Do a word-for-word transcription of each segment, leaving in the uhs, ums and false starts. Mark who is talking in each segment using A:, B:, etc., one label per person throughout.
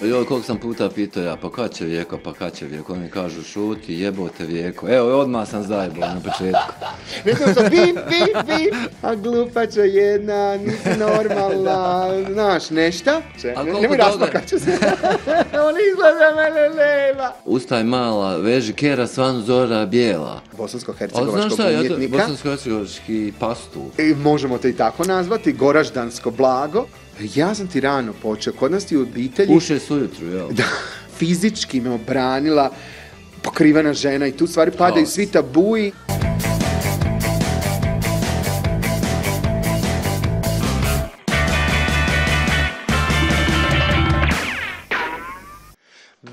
A: Joj, koliko sam puta pitao ja, pa kad će Vijeko, pa kad će Vijeko, oni kažu šuti, jebote Vijeko, evo odmah sam zajebao na početku.
B: Nekako sam bip, bip, bip, a glupača jedna, nisi normalna, znaš, nešta? Nemoj raspakat ću se, on izgleda mene leva.
A: Ustaj mala, veži kera svan zora bijela.
B: Bosansko-hercegovačkog umjetnika.
A: Bosansko-hercegovački pastur.
B: I možemo te i tako nazvati, goraždansko blago. Ja sam ti rano počeo, kod nas ti u obitelji...
A: U šest ujutru, jel?
B: Da, fizički me obranila pokrivena žena i tu stvari padaju svi tabuji.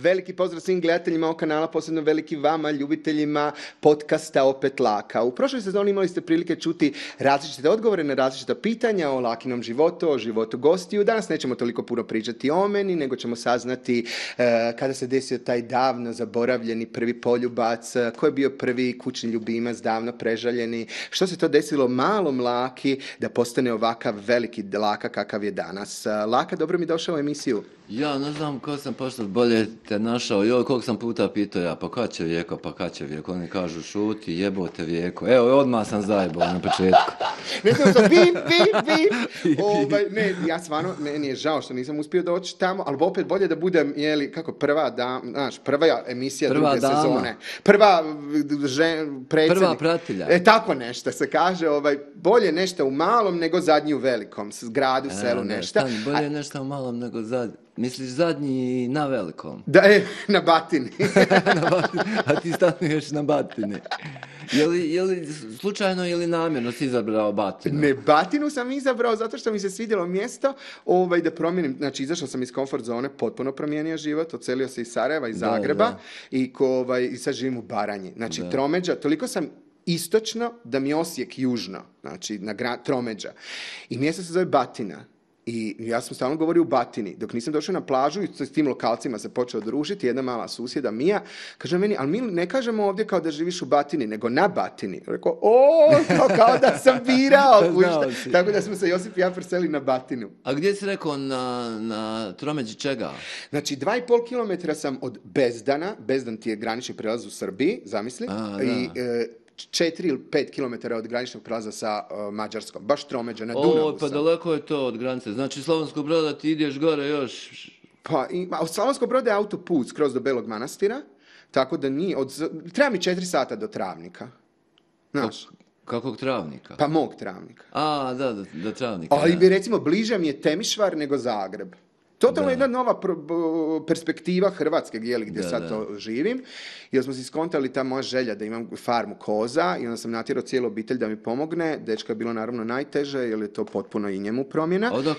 B: Veliki pozdrav svim gledateljima ovog kanala, posebno veliki vama, ljubiteljima podcasta Opet Laka. U prošloj sezoni imali ste prilike čuti različite odgovore na različita pitanja o Lakinom životu, o životu gostiju. Danas nećemo toliko puno pričati o meni, nego ćemo saznati e, kada se desio taj davno zaboravljeni prvi poljubac, ko je bio prvi kućni ljubimac, davno prežaljeni, što se to desilo malom Laki da postane ovakav veliki Laka kakav je danas. Laka, dobro mi došao u emisiju.
A: Ja ne znam ko sam pošto bolje te našao, joj, koliko sam puta pitao ja, pa kad će Vijeko, pa kad će Vijeko, oni kažu šuti, jebote Vijeko, evo odmah sam zajebao na početku.
B: Ne znam sam bip, bip, bip, ovaj, ne, ja stvarno, meni je žao što nisam uspio doći tamo, ali opet bolje da budem, jeli, kako prva, da, znaš, prva emisija
A: prva
B: druge
A: dama.
B: Sezone, prva žen, predsjednik.
A: Prva pratilja.
B: E, tako nešto se kaže, ovaj, bolje nešto u malom nego zadnji u velikom, s gradu,
A: E,
B: selu,
A: ne,
B: nešto.
A: Stani, bolje nešto u malom nego zadnji. Misliš zadnji na velikom?
B: Da, je, na batini.
A: na batini. A ti stanuješ na batini. Je li, je li slučajno ili namjerno si izabrao batinu?
B: Ne, batinu sam izabrao zato što mi se svidjelo mjesto ovaj, da promijenim. Znači, izašao sam iz komfort zone, potpuno promijenio život, odselio se iz Sarajeva, iz Zagreba da, da. I, ko, ovaj, i sad živim u Baranji. Znači, da. Tromeđa, toliko sam istočno da mi Osijek južno, znači na gra, Tromeđa. I mjesto se zove Batina. I ja sam stalno govorio u Batini. Dok nisam došao na plažu i s tim lokalcima se počeo družiti, jedna mala susjeda Mija, kaže meni, ali mi ne kažemo ovdje kao da živiš u Batini, nego na Batini. Rekao, o, kao da sam birao. Tako da smo se Josip i ja preseli na Batinu.
A: A gdje si rekao na, na Tromeđi čega?
B: Znači, dva i pol kilometra sam od Bezdana. Bezdan ti je granični prelaz u Srbiji, zamisli.
A: A,
B: I, e, četiri ili pet kilometara od graničnog prelaza sa uh, Mađarskom. Baš Tromeđa, na Dunavu.
A: O, pa sam. Daleko je to od granice. Znači, Slavonskog Broda ti ideš gore još...
B: Pa, i, a od Slavonskog Broda je autoput skroz do Belog Manastira, tako da nije... Od, treba mi četiri sata do Travnika. Znaš?
A: Kakvog Travnika?
B: Pa mog Travnika.
A: A, da, do, do Travnika.
B: Ali bi, recimo, bliže mi je Temišvar nego Zagreb. Totalno jedna nova pro, perspektiva Hrvatske gdje, gdje da, sad da. to živim. I smo si skontali ta moja želja da imam farmu koza i onda sam natjerao cijelu obitelj da mi pomogne. Dečka je bilo naravno najteže jer je to potpuno i njemu promjena.
A: A onda,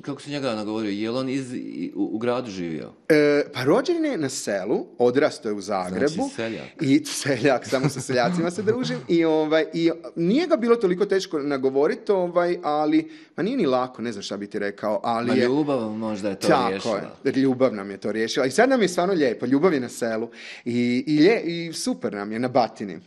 A: kako si njega nagovorio, je li on iz, u, u gradu živio?
B: E, pa rođen je na selu, odrastao je u Zagrebu.
A: Znači seljak.
B: I seljak, samo sa seljacima se družim. I, ovaj, i nije ga bilo toliko teško nagovoriti, ovaj, ali, ma nije ni lako, ne znam šta bi ti rekao, ali
A: ma
B: je...
A: ljubav možda je to
B: tako
A: riješila.
B: Je, ljubav nam je to riješila. I sad nam je stvarno lijepo, ljubav je na selu. I, i, lje, i super nam je na Batini.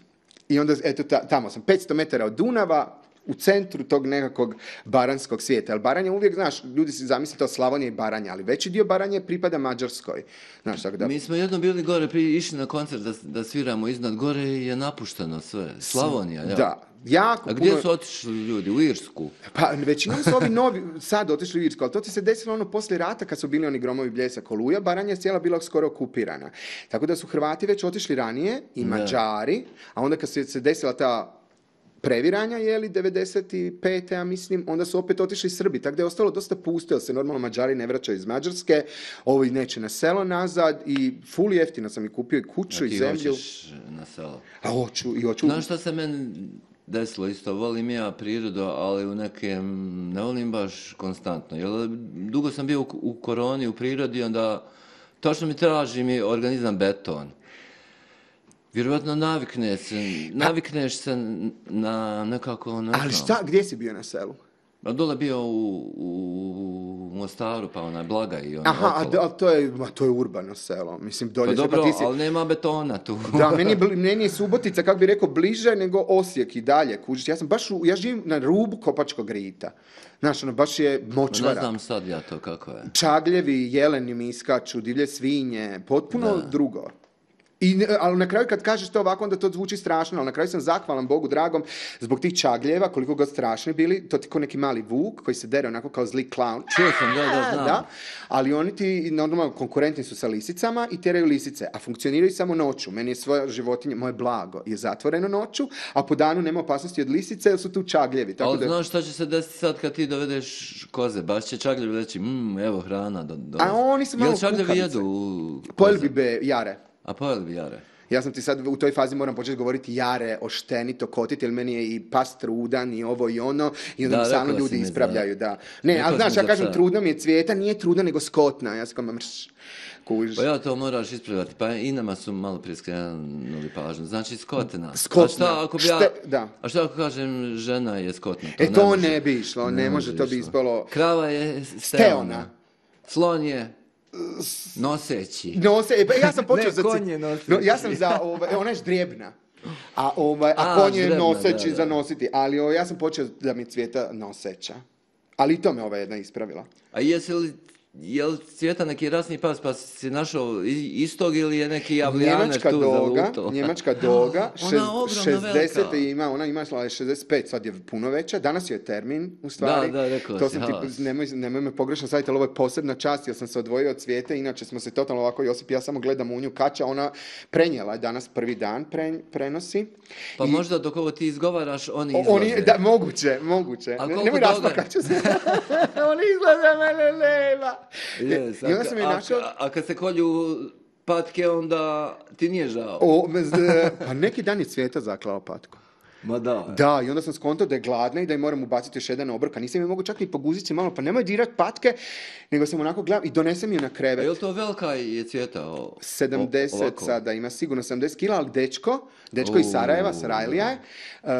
B: I onda, eto, ta, tamo sam, petsto metara od Dunava, u centru tog nekakvog baranskog svijeta. Jer Baranja uvijek, znaš, ljudi si zamisli to Slavonija i Baranja, ali veći dio Baranje pripada Mađarskoj. Znaš, tako da...
A: Mi smo jednom bili gore, prije išli na koncert da, da sviramo iznad, gore je napušteno sve. Slavonija, ja.
B: Da. Jako
A: A gdje
B: puno...
A: su otišli ljudi? U Irsku?
B: Pa većinom su ovi novi sad otišli u Irsku, ali to ti se desilo ono poslije rata kad su bili oni Gromovi, Bljesak, Oluja, Baranja je cijela bila skoro okupirana. Tako da su Hrvati već otišli ranije i Mađari, a onda kad se desila ta previranja, jeli, devedeset pete ja mislim, onda su opet otišli Srbi, tako da je ostalo dosta pusto, jer se normalno Mađari ne vraćaju iz Mađarske, ovi neće na selo nazad i ful jeftino sam i kupio i kuću i zemlju.
A: A ti hoćeš na selo?
B: A hoću i hoću.
A: Znaš šta se meni desilo isto, volim ja prirodu, ali u nekem, ne volim baš konstantno, jer dugo sam bio u, u koroni, u prirodi, onda točno mi traži mi organizam beton. Vjerovatno navikne se, navikneš se na nekako, ne znam.
B: Ali šta, gdje si bio na selu?
A: A dole bio u, u Mostaru, pa onaj Blagaj i ono
B: Aha, a,
A: okolo.
B: a to je, ma, to je urbano selo. Mislim, dolje
A: Pa
B: se,
A: dobro,
B: pa ti si...
A: ali nema betona tu.
B: Da, meni je, bli- meni je Subotica, kako bi rekao, bliže nego Osijek i dalje, kužiš. Ja sam baš, u, ja živim na rubu Kopačkog rita. Znaš, ono, baš je
A: Ne
B: močvara.
A: znam sad ja to kako je.
B: Čagljevi, jeleni mi iskaču, divlje svinje, potpuno
A: Da.
B: drugo. I, ne- ali na kraju kad kažeš to ovako, onda to zvuči strašno, ali na kraju sam zahvalan Bogu dragom zbog tih čagljeva, koliko god strašni bili, to ti ko neki mali vuk koji se dere onako kao zli klaun.
A: Čuo sam, da, da, znam.
B: Da, ali oni ti normalno konkurentni su sa lisicama i teraju lisice, a funkcioniraju samo noću. Meni je svoja životinja, moje blago, je zatvoreno noću, a po danu nema opasnosti od lisice jer su tu čagljevi. Tako
A: Ali
B: da...
A: znaš šta će se desiti sad kad ti dovedeš koze? Baš će čagljevi reći, mmm, evo hrana. Do, do.
B: A oni su malo
A: Jel čagljevi
B: kukavice.
A: jedu u
B: Pojeli
A: koze?
B: bi be jare.
A: A pojeli bi jare.
B: Ja sam ti sad u toj fazi moram početi govoriti jare, oštenito, kotiti, jer meni je i pas trudan i ovo i ono, i onda
A: Da,
B: mi stalno
A: rekao si
B: ljudi
A: mi za-
B: ispravljaju, da. Ne,
A: rekao
B: ali
A: si
B: znaš,
A: mi
B: ja
A: za
B: kažem
A: psa.
B: trudno mi je Cvijeta, nije trudna nego skotna, ja sam kao mrš, kužiš.
A: Pa ja to moraš ispravljati, pa i nama su malo prije skrenuli pažnju. Znači skotena.
B: Skotna.
A: A šta ako bi ja...
B: Šte- da.
A: A šta ako kažem žena je skotna?
B: E, to
A: može.
B: ne bi išlo, ne može, to bi
A: išlo.
B: ispalo-
A: Krava je
B: Steona.
A: steona. Slon je noseći.
B: Nose, e, pa ja sam počeo
A: Ne,
B: za...
A: konj je noseći.
B: No, ja sam za, ovaj, ona je ždrijebna. A, ovaj, a,
A: A,
B: konj je
A: ždrijebna,
B: noseći
A: da, da.
B: za nositi, ali ovaj, ja sam počeo da mi Cvijeta noseća. Ali i to me ova jedna ispravila.
A: A jesi li, je li Cvijeta neki rasni pas, pa si našao i- istog ili je neki javljaneš
B: Njemačka
A: tu
B: doga,
A: zalutao?
B: njemačka doga,
A: Ona
B: šez-
A: ogromna,
B: šezdeset
A: velika.
B: ima, ona ima je šezdeset pet, sad je puno veća, danas je termin, u stvari.
A: Da, da, rekao
B: to
A: si,
B: sam ti,
A: ha.
B: nemoj, nemoj me pogrešno savjeti, ali ovo je posebna čast, jer sam se odvojio od Cvijete, inače smo se totalno ovako, Josip i ja samo gledamo u nju kača, ona prenijela je danas prvi dan, pre, prenosi.
A: Pa
B: I-
A: možda dok ovo ti izgovaraš, oni
B: O-
A: izlaze.
B: Oni, da, moguće, moguće.
A: A
B: Ne-
A: koliko
B: Nemoj
A: doga-
B: raspakat ću se. Oni izgleda mene leva.
A: Yes,
B: I onda
A: a,
B: sam je
A: a-
B: našao...
A: a, a kad se kolju patke, onda ti nije žao.
B: O, bez, e, pa neki dan je Cvijeta zaklao patku.
A: Ma da.
B: Da, i onda sam skontao da je gladna i da je moram ubaciti još jedan obrok, a nisam je mogu čak ni poguziti se malo, pa nemoj dirat patke, nego sam onako gledam i donesem ju na
A: A
B: krevet.
A: je li to velika je Cvijeta? O, o-
B: sedamdeset
A: ovako?
B: sada, ima sigurno sedamdeset kila, ali dečko, dečko iz
A: U,
B: Sarajeva, Sarajlija je, uh, uh,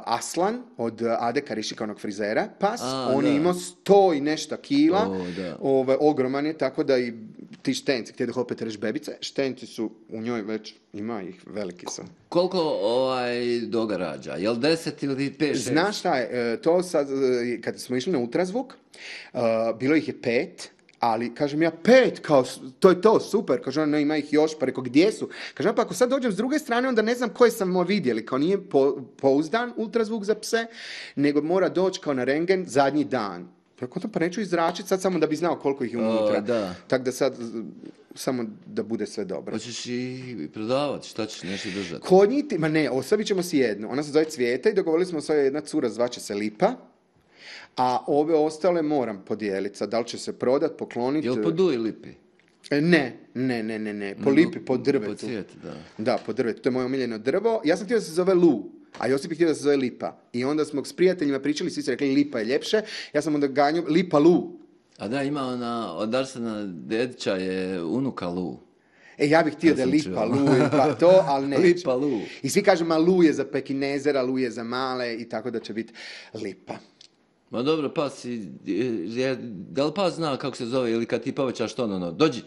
B: Aslan od Ade Karišika, onog frizera, pas,
A: A,
B: on je
A: da.
B: imao sto i nešto kila,
A: O, da.
B: ovaj, ogroman je, tako da i ti štenci, htjeli opet reći bebice, štenci su u njoj već, ima ih, veliki su.
A: Koliko ovaj doga rađa? Je li deset ili pet, šest?
B: Znaš šta je, e, to sad, e, kad smo išli na ultrazvuk, e, bilo ih je pet, ali kažem ja pet, kao s- to je to, super, kaže ona, ne, ima ih još, pa rekao gdje su? Kažem, pa ako sad dođem s druge strane, onda ne znam koje sam vidjeli, kao nije po- pouzdan ultrazvuk za pse, nego mora doći kao na rengen zadnji dan. Rekao, pa neću izračiti sad samo da bi znao koliko ih je
A: O,
B: unutra.
A: da.
B: Tako da sad, z- samo da bude sve dobro.
A: Hoćeš i prodavati, šta ćeš, neće držati?
B: Kod njih, ti- ma ne, ostavit ćemo si jednu. Ona se zove Cvijeta i dogovorili smo se, jedna cura zvaće se Lipa, a ove ostale moram podijeliti. Sad, da li će se prodat, pokloniti?
A: Je li po duji lipi?
B: E, Ne, ne, ne, ne, ne. Po
A: Nego
B: lipi, po drvetu.
A: Po cvijetu, da.
B: Da, po drvetu. To je moje omiljeno drvo. Ja sam htio da se zove Lu, a Josip je htio da se zove Lipa. I onda smo s prijateljima pričali, svi su rekli Lipa je ljepše. Ja sam onda ganjao Lipa Lu.
A: A da, ima ona, od Arsena Dedića je unuka Lu.
B: E, ja bih htio
A: Ja
B: da je
A: sam
B: Lipa,
A: čuo.
B: Lu, pa to, ali neće.
A: Lipa Lu.
B: I svi kažu, ma Lu je za pekinezera, Lu je za male i tako da će biti Lipa.
A: Ma dobro, pas, i- je, da li pas zna kako se zove ili kad ti povećaš to, ono, no, dođi.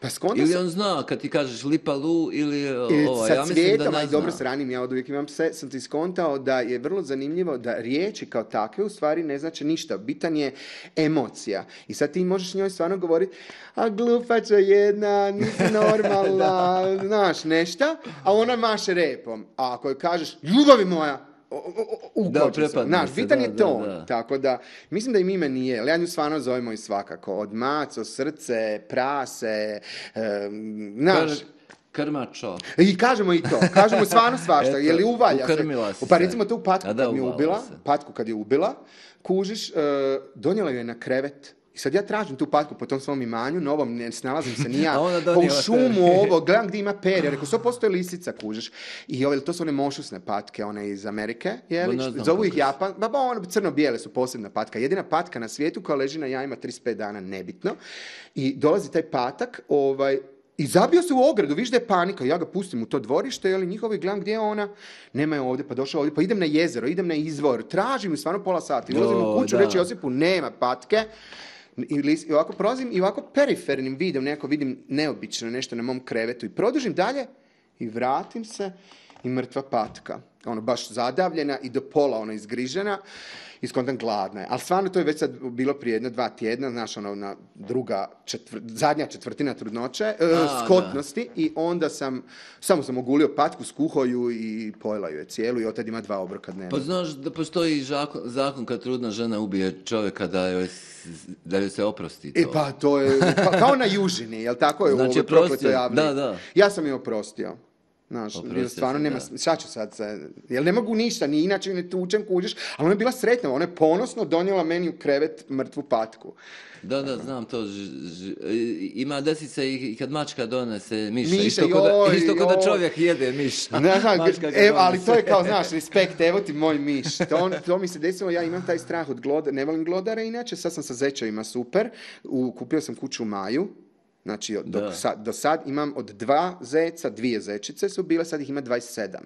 B: Pa skonto
A: Ili
B: sam...
A: on zna kad ti kažeš Lipa Lu ili
B: I
A: ovo,
B: sa
A: ja mislim da
B: cvijetom, a
A: ne
B: i dobro
A: zna.
B: s ranim, ja od uvijek imam pse, sam ti skontao da je vrlo zanimljivo da riječi kao takve u stvari ne znači ništa. Bitan je emocija. I sad ti možeš njoj stvarno govoriti, a glupača jedna, nisi normalna, znaš, nešta, a ona maše repom. A ako joj kažeš, ljubavi moja, o- o- o- ukoči
A: Da,
B: se.
A: prepadne
B: Znaš,
A: se,
B: bitan
A: da,
B: je
A: da,
B: ton.
A: da.
B: Tako da, mislim da im ime nije, ali ja nju stvarno zovemo i svakako. Od maco, srce, prase, em, znaš,
A: Kr- Krmačo.
B: i kažemo i to, kažemo stvarno svašta,
A: Eto,
B: je li uvalja se.
A: ukrmila si
B: Pa
A: se.
B: recimo tu patku
A: A da,
B: kad mi je
A: uvala
B: ubila,
A: se.
B: patku kad je ubila, kužiš, e, donijela ju je na krevet. I sad ja tražim tu patku po tom svom imanju, novom, ne snalazim se ni ja,
A: A ona
B: pa u
A: donijela
B: šumu
A: tebi.
B: ovo, gledam gdje ima perje, rekao, sto posto je lisica, kužiš. I ove, to su one mošusne patke, one iz Amerike, je
A: Ba,
B: li?
A: ne znam
B: Zovu ih
A: kako su.
B: Japan, ba, ba, one crno-bijele su posebna patka. Jedina patka na svijetu koja leži na jajima trideset pet dana, nebitno. I dolazi taj patak, ovaj, I zabio se u ogradu, viš da je panika, ja ga pustim u to dvorište, jel, njihovi, gledam gdje je ona, nema je ovdje, pa došao ovdje, pa idem na jezero, idem na izvor, tražim ju stvarno pola sata, ulazim u kuću,
A: da.
B: reći Josipu, nema patke, i, i ovako prolazim i ovako perifernim videom, nekako vidim neobično nešto na mom krevetu i produžim dalje i vratim se i mrtva patka, ono baš zadavljena i do pola ona izgrižena, i skontam gladna je. Ali stvarno to je već sad bilo prije jedno, dva tjedna, znaš, ono, na druga, četvr, zadnja četvrtina trudnoće, e,
A: A,
B: skotnosti, da. I onda sam, samo sam ogulio patku, skuhao ju i pojela ju je cijelu i od tad ima dva obroka dnevno.
A: Pa znaš da postoji zakon, zakon kad trudna žena ubije čovjeka da joj, da joj se oprosti to.
B: E pa to je, pa, kao na južini, jel tako je
A: znači,
B: u ovoj prokletoj javni?
A: Da, da.
B: Ja sam je oprostio. Znaš,
A: Oprosti
B: stvarno
A: se,
B: nema,
A: da.
B: šta ću sad se, jel ne mogu ništa, ni inače ne tučem, kuđeš, ali ona je bila sretna, ona je ponosno donijela meni u krevet mrtvu patku.
A: Da, da, znam to. Ž, ž, ima desi se i kad mačka donese miša.
B: Miša,
A: isto ko da, isto ko da čovjek jede miša.
B: Da,
A: Mačka ga
B: e, ali
A: donese.
B: to je kao, znaš, respekt, evo ti moj miš. To, to mi se desilo, ja imam taj strah od glodara, ne volim glodara inače, sad sam sa zečevima super, u, kupio sam kuću u maju. Znači, do, sad, do sad imam od dva zeca, dvije zečice su bile, sad ih ima dvadeset sedam.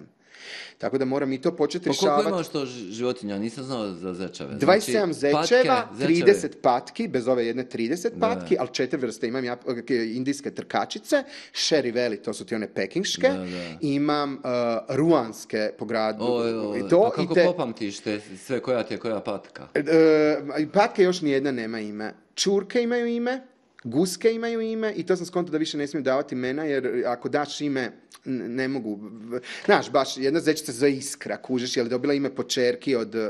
B: Tako da moram i to početi rješavati.
A: Pa koliko imaš to životinja? Nisam znao za zečeve.
B: dvadeset sedam
A: znači,
B: zečeva,
A: patke,
B: trideset patki, bez ove jedne trideset patki,
A: da.
B: ali četiri vrste. Imam ja, indijske trkačice, Sherry Valley, to su ti one pekinške.
A: Da, da.
B: Imam uh, ruanske po gradu.
A: Oj, oj,
B: I to,
A: pa kako
B: i te,
A: popamtiš te sve koja ti je koja patka?
B: Uh, patke još nijedna nema ime. Čurke imaju ime. Guske imaju ime i to sam skontao da više ne smijem davati imena, jer ako daš ime, ne mogu. Znaš, baš jedna zečica za Iskra, kužiš, je li dobila ime po čerki od uh,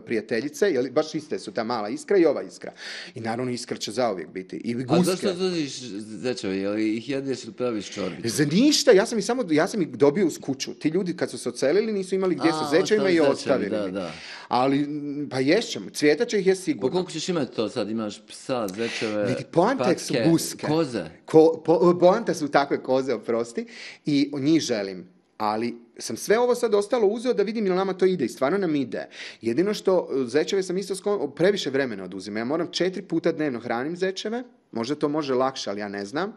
B: prijateljice, je li, baš iste su ta mala Iskra i ova Iskra. I naravno Iskra će zauvijek biti. I guske.
A: A zašto zuziš zečeve? Je li ih jedeš ili praviš čorbicu?
B: Za ništa, ja sam ih samo, ja sam ih dobio uz kuću. Ti ljudi kad su se ocelili nisu imali gdje sa zečevima i ostavili.
A: Da, da.
B: Ali, pa ješćemo, Cvijeta će ih je sigurno.
A: Pa koliko ćeš imati to sad? Imaš psa, zečeve,
B: Vidi, poante su guske.
A: Koze.
B: Ko, po, poante su takve koze, oprosti. I njih želim. Ali sam sve ovo sad ostalo uzeo da vidim ili nama to ide i stvarno nam ide. Jedino što zečeve sam isto skon, previše vremena oduzima. Ja moram četiri puta dnevno hranim zečeve. Možda to može lakše, ali ja ne znam.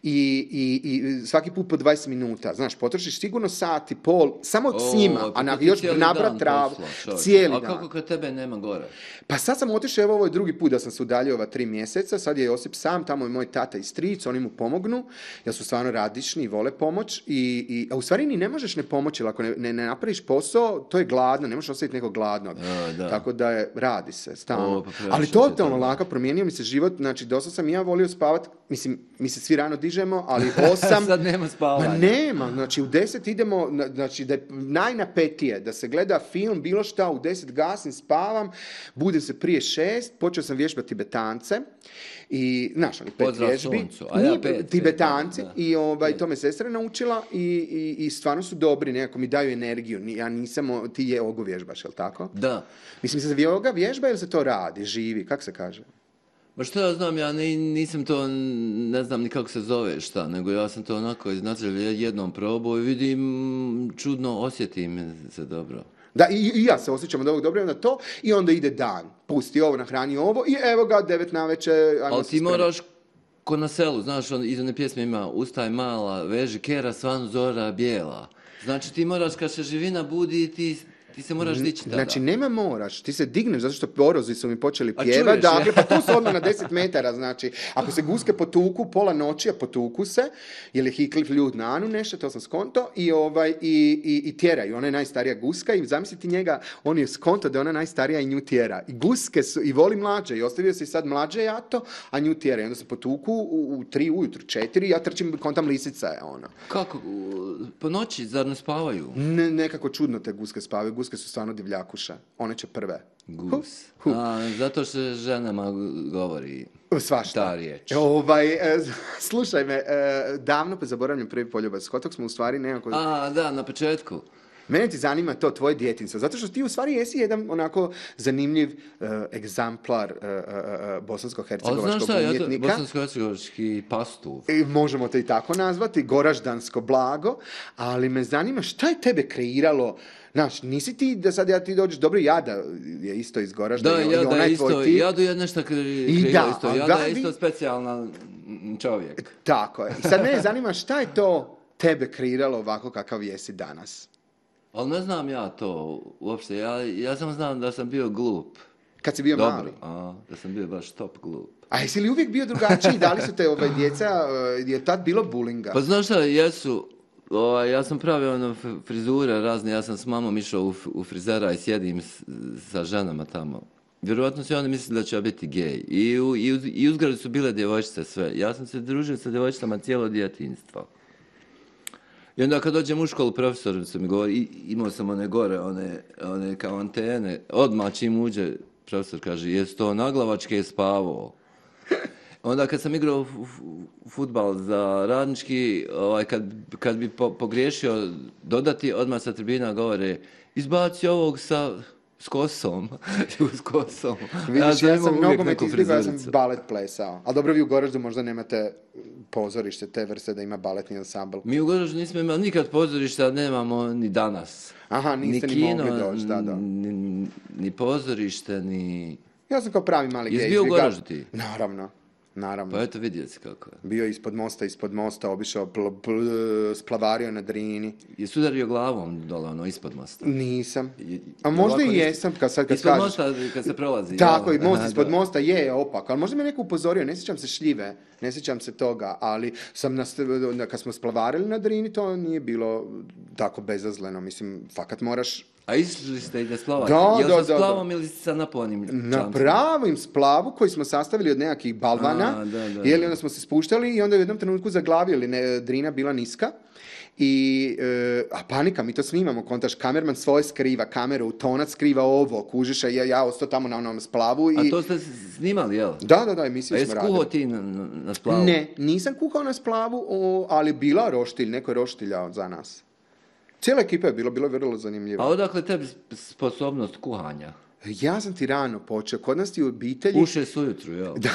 B: I, i, i svaki put po dvadeset minuta. Znaš, potrošiš sigurno sat i pol, samo
A: O,
B: s njima,
A: pa
B: a na,
A: ti
B: još
A: cijeli
B: nabrat
A: dan
B: travu.
A: posla,
B: Cijeli
A: a
B: dan.
A: kako kad tebe nema gore?
B: Pa sad sam otišao, evo ovo je drugi put da sam se udaljio ova tri mjeseca, sad je Josip sam, tamo je moj tata i stric, oni mu pomognu, jer su stvarno radišni i vole pomoć, i, i, a u stvari ni ne možeš ne pomoći, jer ako ne, ne, ne napraviš posao, to je gladno, ne možeš ostaviti nekog gladnog.
A: A, da.
B: Tako da je, radi se, stalno.
A: O, pa
B: Ali
A: previše
B: totalno
A: se to-
B: lako, promijenio mi se život, znači dosta sam i ja volio spavat, mislim, mi se svi rano dižemo, ali osam...
A: Sad nema spavanja.
B: Ma nema, znači u deset idemo, na- znači da je najnapetije, da se gleda film, bilo šta, u deset gasim, spavam, budem se prije šest, počeo sam vježbati Tibetance i, znaš, oni pet
A: Pozdrav
B: vježbi.
A: suncu, a ja
B: Nije-
A: pet,
B: Tibetanci,
A: da, da.
B: i ovaj, to me sestra naučila i, i, i stvarno su dobri, nekako mi daju energiju, Ni- ja nisam, o- ti je ogo vježbaš, jel tako?
A: Da.
B: Mislim se joga vježba ili se to radi, živi, kak se kaže?
A: Ma što ja znam, ja ni, nisam to, ne znam ni kako se zove šta, nego ja sam to onako iznačio jednom probao i vidim, čudno osjetim se dobro.
B: Da, i, i ja se osjećam od ovog dobro na to i onda ide dan. Pusti ovo, nahrani ovo i evo ga, devet navečer, ajmo
A: Ali
B: se
A: ti
B: spremati.
A: moraš, ko na selu, znaš, on, iz one pjesme ima ustaj mala, veži kera, svan zora bijela. Znači ti moraš, kad se živina budi, ti, ti se moraš dići tada.
B: Znači, nema moraš, ti se digneš zato što porozi su mi počeli
A: A
B: pjevati,
A: čuješ,
B: dakle,
A: ja?
B: pa tu su odmah na deset metara, znači, ako se guske potuku, pola noći, a potuku se, jer je Hiklif ljud na Anu nešto, to sam skonto, i, ovaj, i, i, i tjeraju, ona je najstarija guska i zamisliti njega, on je skonto da je ona najstarija i nju tjera. I guske su, i voli mlađe, i ostavio se i sad mlađe jato, a nju tjera. I onda se potuku u, u tri ujutru, četiri, ja trčim, kontam lisica je ono.
A: Kako? U- Po noći, zar ne spavaju?
B: Ne, nekako čudno te guske spavaju, guske su stvarno divljakuša, one će prve.
A: Gus.
B: Hu, hu.
A: A, zato što ženama govori
B: Svašta.
A: ta riječ.
B: Ovaj, e, slušaj me, e, davno pa zaboravljam prvi poljubac. Kod smo u stvari nekako...
A: A, da, na početku.
B: Mene ti zanima to tvoje djetinjstvo, zato što ti u stvari jesi jedan onako zanimljiv uh, egzamplar uh, uh, uh, bosansko-hercegovačkog
A: Ali znaš šta, ja to,
B: umjetnika.
A: bosansko-hercegovački pastuv.
B: I možemo te i tako nazvati, goraždansko blago, ali me zanima šta je tebe kreiralo. Znaš, nisi ti da sad ja ti dođeš, dobro, Jada je isto iz Goražda
A: Da,
B: i, i
A: Jada
B: ona
A: je
B: je tvoj
A: isto,
B: tip.
A: Jadu je nešto kre,
B: I
A: kreirao
B: da,
A: isto.
B: ali
A: Jada
B: da,
A: je
B: vi-
A: isto specijalna mm, čovjek.
B: Tako je. I sad mene zanima šta je to tebe kreiralo ovako kakav jesi danas?
A: Ali ne znam ja to uopšte. Ja, ja samo znam da sam bio glup.
B: Kad si bio
A: Dobro,
B: mali?
A: a, da sam bio baš top glup.
B: A jesi li uvijek bio drugačiji? Da li su te ove djeca, uh, je tad bilo bulinga?
A: Pa znaš šta, jesu, ovaj, ja sam pravio ono f- frizure razne, ja sam s mamom išao u, f- u frizera i sjedim s- sa ženama tamo. Vjerojatno su oni mislili da ću ja biti gej. I u, i, uz, i uzgradu su bile djevojčice sve. Ja sam se družio sa djevojčicama cijelo djetinjstvo. I onda kad dođem u školu, profesor se mi govori, i, imao sam one gore, one, one kao antene, odmah čim uđe, profesor kaže, jes to naglavačke spavao? Onda kad sam igrao fudbal za radnički, ovaj, kad, kad bi po, pogriješio dodati, odmah sa tribina govore, izbaci ovog sa... s kosom, s kosom.
B: Vidiš, ja, ja sam
A: uvijek
B: nogomet
A: neku
B: izbjegao, ja sam
A: frizuricu.
B: balet plesao. Ali dobro, vi u Goraždu možda nemate pozorište te vrste da ima baletni ansambl.
A: Mi u Goraždu nismo imali nikad pozorišta, nemamo ni danas.
B: Aha, niste ni,
A: kino,
B: mogli doći, da, da.
A: Ni, ni pozorište, ni...
B: Ja sam kao pravi mali
A: Jesi
B: gej.
A: bio u
B: izbjegao-
A: Goraždu ti?
B: Naravno, naravno.
A: Pa eto vidjeti si kako je.
B: Bio ispod mosta, ispod mosta, obišao, pl, pl- splavario na Drini.
A: Jesi udario glavom dole, ono, ispod mosta?
B: Nisam.
A: I-
B: A možda
A: ovako
B: i
A: nis-
B: jesam, kad sad kad
A: Ispod
B: kažeš.
A: mosta kad se prolazi.
B: Tako,
A: jel?
B: i most
A: Aha,
B: ispod
A: da.
B: mosta je opak, ali možda me neko upozorio, ne sjećam se šljive, ne sjećam se toga, ali sam nas, kad smo splavarili na Drini, to nije bilo tako bezazleno, mislim, fakat moraš
A: A išli ste i da splavate?
B: Da,
A: Jel
B: da,
A: sa
B: da,
A: splavom ili sa naponim
B: na
A: čamcem?
B: pravim splavu koji smo sastavili od nekakvih balvana,
A: A, da, da,
B: jeli,
A: da.
B: onda smo se spuštali i onda u jednom trenutku zaglavili, ne, Drina bila niska. I, e, a panika, mi to snimamo, kontaš, kamerman svoje skriva, kameru, tonac skriva ovo, kužiš, a ja, ja ostao tamo na onom splavu i...
A: A to ste snimali, jel?
B: Da, da, da,
A: A
B: emisiju
A: jesi
B: smo
A: kuhao
B: radili.
A: ti na, na, na splavu?
B: Ne, nisam kuhao na splavu, o, ali bila roštilj, neko je roštiljao za nas. Cijela ekipa je bilo, bilo je vrlo zanimljivo.
A: A odakle tebi sposobnost kuhanja?
B: Ja sam ti rano počeo, kod nas ti u obitelji...
A: U šest ujutru, jel?
B: Da,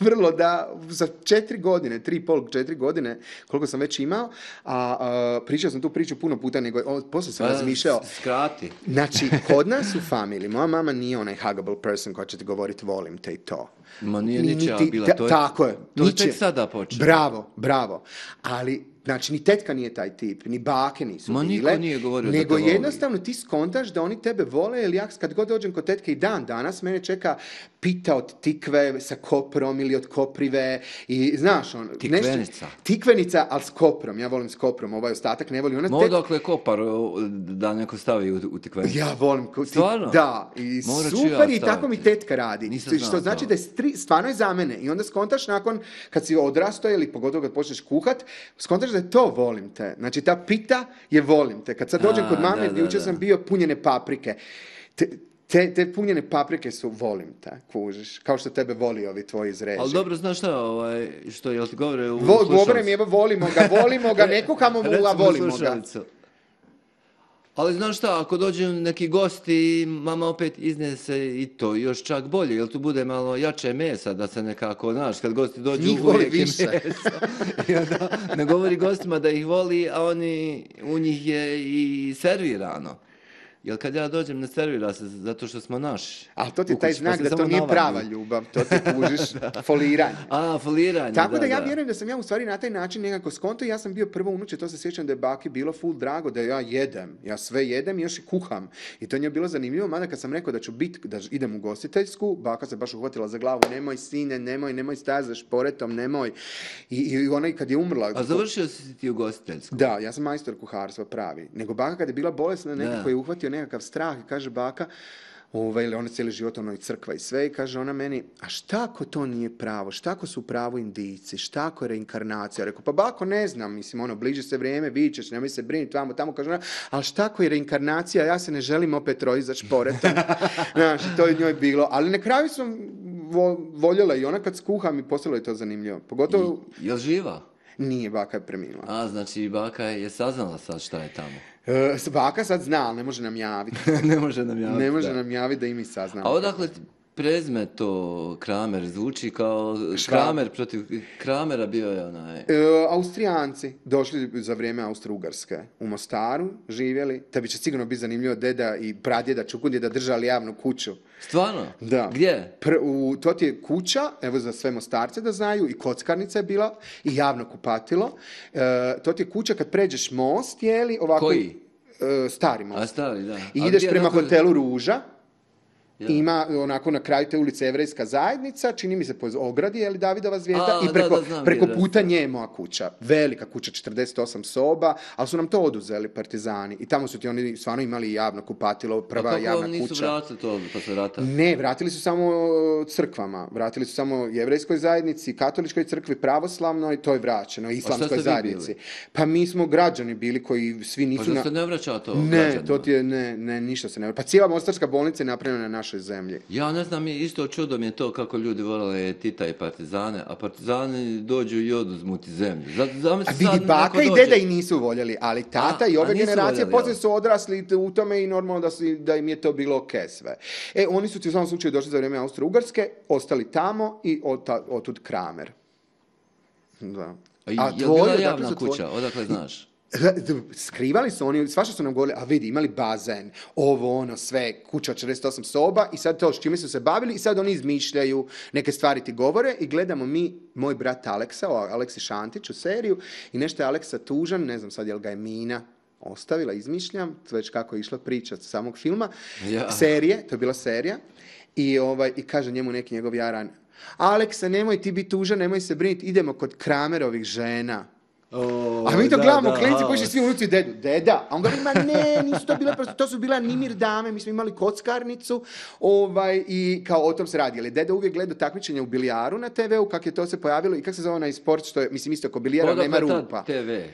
B: vrlo da, za četiri godine, tri i pol, četiri godine, koliko sam već imao, a, a pričao sam tu priču puno puta, nego o, poslije sam
A: Pa,
B: razmišljao.
A: s- Skrati.
B: Znači, kod nas u familiji, moja mama nije onaj huggable person koja će ti govoriti volim te i to.
A: Ma nije
B: Ni-
A: ničija
B: niti-
A: bila,
B: ta-
A: to je,
B: tako je,
A: to je
B: ničija.
A: tek sada počeo.
B: Bravo, bravo. Ali, znači, ni tetka nije taj tip, ni bake nisu
A: Ma niko
B: bile.
A: nije govorio da
B: nego
A: te voli.
B: jednostavno ti skontaš da oni tebe vole, jer ja kad god dođem kod tetke i dan danas, mene čeka pita od tikve sa koprom ili od koprive i znaš on...
A: Tikvenica.
B: Tikvenica, ali s koprom, ja volim s koprom, ovaj ostatak ne voli. Ona
A: Ma
B: tek-
A: odakle kopar o, da neko stavi u, u tikvenicu?
B: ja volim. ko- ti-
A: Stvarno?
B: Da, i
A: Morat ću
B: super
A: ja
B: i tako
A: staviti.
B: mi tetka radi.
A: Nisam
B: što
A: znao
B: znači
A: to.
B: da je stri, stvarno je za mene. I onda skontaš nakon, kad si odrastao ili pogotovo kad počneš kuhat, skontaš da je to volim te. Znači ta pita je volim te. Kad sad dođem
A: A,
B: kod mame,
A: da, da,
B: jučer
A: da.
B: sam bio punjene paprike. Te, te, te punjene paprike su volim te, kužiš. Kao što tebe voli ovi tvoji iz režije.
A: Ali dobro, znaš šta, ovaj, što, jel ti govore u
B: Vo, govore
A: slušalicu?
B: mi, evo, volimo ga, volimo ga, ne kuhamo mu, a
A: Recimo
B: volimo ga.
A: slušalicu. Ali znaš šta, ako dođu neki gosti, mama opet iznese i to još čak bolje, jer tu bude malo jače mesa, da se nekako, znaš, kad gosti dođu
B: Njih voli
A: uvijek je
B: više.
A: meso. I onda ne govori gostima da ih voli, a oni, u njih je i servirano. Jer kad ja dođem, ne servira se zato što smo naši.
B: Ali to ti
A: u
B: je taj
A: kući, pa
B: znak
A: se
B: da to
A: samo
B: nije
A: navadi.
B: prava ljubav, to ti kužiš foliranje.
A: A, foliranje,
B: Tako da, ja vjerujem da sam ja u stvari na taj način nekako skonto, ja sam bio prvo unuče, to se sjećam da je baki bilo full drago, da ja jedem, ja sve jedem i još i kuham. I to njoj je bilo zanimljivo, mada kad sam rekao da ću biti, da idem u gostiteljsku, baka se baš uhvatila za glavu, nemoj sine, nemoj, nemoj stajati za šporetom, nemoj. I, i ona i kad je umrla...
A: A završio si ti u gostiteljsku?
B: Da, ja sam majstor kuharstva pravi. Nego baka kad je bila bolesna, nekako
A: Da.
B: je uhvatio nekakav strah i kaže baka, ovaj, ili ona cijeli život ono i crkva i sve, i kaže ona meni, a šta ako to nije pravo, šta ako su pravo indijci, šta ako je reinkarnacija? Rekao, pa bako ne znam, mislim, ono, bliže se vrijeme, vidit ćeš, nemoj se brinuti, tamo, tamo, kaže ona, ali šta ako je reinkarnacija, ja se ne želim opet roditi za šporetom. Znaš, to je njoj bilo, ali na kraju sam vo, voljela i ona kad skuha mi postalo je to zanimljivo. Pogotovo,
A: Jel živa?
B: nije, baka je preminula.
A: A, znači baka je saznala sad šta je tamo.
B: E, baka sad zna, ali ne može nam javiti.
A: Ne može nam javiti.
B: Ne može
A: da.
B: nam javiti da i mi saznamo.
A: A odakle ti prezme to Kramer zvuči kao Kramer protiv Kramera bio je onaj...
B: E, Austrijanci došli za vrijeme Austro-Ugarske u Mostaru, živjeli, te bi će sigurno biti zanimljivo deda i pradjeda Čukundjeda držali javnu kuću.
A: Stvarno?
B: Da.
A: Gdje?
B: Pr, u, to ti je kuća, evo za sve Mostarce da znaju, i kockarnica je bila, i javno kupatilo. E, to ti je kuća kad pređeš most, jeli, ovako...
A: Koji?
B: E, stari most.
A: A stari, da.
B: I
A: A
B: ideš
A: gdje,
B: prema
A: kako-
B: hotelu Ruža.
A: Ja.
B: Ima onako na kraju te ulice Jevrejska zajednica, čini mi se po ogradi, je li Davidova zvijezda,
A: A,
B: i preko,
A: da, da, znam
B: preko
A: gdje je,
B: puta
A: da.
B: nje je moja kuća. Velika kuća, četrdeset osam soba, ali su nam to oduzeli partizani. I tamo su ti oni stvarno imali javno kupatilo, prva
A: A kako
B: javna
A: vam nisu
B: kuća.
A: vratili to posle rata?
B: Ne, vratili su samo crkvama. Vratili su samo jevrejskoj zajednici, katoličkoj crkvi, pravoslavnoj, to je vraćeno, islamskoj
A: ste vi
B: zajednici.
A: bili?
B: Pa mi smo građani bili koji svi
A: Pa
B: nisu...
A: što
B: na-
A: se ne vraća to
B: Ne,
A: građanima?
B: to ti je, ne, ne, ništa se ne... Pa cijela Mostarska bolnica je napravljena na našoj zemlji.
A: Ja ne znam, isto čudo mi je to kako ljudi volale Tita i partizane, a partizani dođu i oduzmu ti zemlju. Za- zamisli
B: A vidi,
A: sad
B: baka
A: neko
B: i
A: dođe-
B: deda i nisu voljeli, ali tata
A: A,
B: i ove
A: a nisu
B: generacije
A: voljeli,
B: poslije
A: jel?
B: su odrasli u tome i normalno da, su, da im je to bilo ok sve. E, oni su ti u svakom slučaju došli za vrijeme Austro-Ugarske, ostali tamo i od, otud Kramer. Da.
A: A, je
B: A
A: li
B: tvoji,
A: bila
B: odakle
A: javna
B: su tvoji?
A: kuća, odakle znaš?
B: Skrivali su oni, svašta su nam govorili, a vidi, imali bazen, ovo, ono, sve, kuća od četrdeset osam soba i sad to s čime su se bavili i sad oni izmišljaju, neke stvari ti govore i gledamo mi, moj brat Aleksa, o Aleksi Šantić u seriju i nešto je Aleksa tužan, ne znam sad jel ga je Mina ostavila, izmišljam, već kako je išla priča od samog filma,
A: Ja.
B: serije, to je bila serija i, ovaj, i kaže njemu neki njegov jaran, Aleksa, nemoj ti biti tužan, nemoj se brinuti, idemo kod Kramerovih žena.
A: O,
B: A mi to
A: da,
B: gledamo,
A: da,
B: klinci
A: a,
B: koji svi unuci dedu, deda. A on govori, ma ne, nisu to bile, prosto, to su bila Nimir dame, mi smo imali kockarnicu, ovaj, i kao o tom se radi. Ali deda uvijek gleda takmičenja u bilijaru na te ve u, kak je to se pojavilo i kak se zove onaj sport, što je, mislim, isto ko bilijara,
A: odakle
B: nema
A: ta
B: rupa.
A: te ve?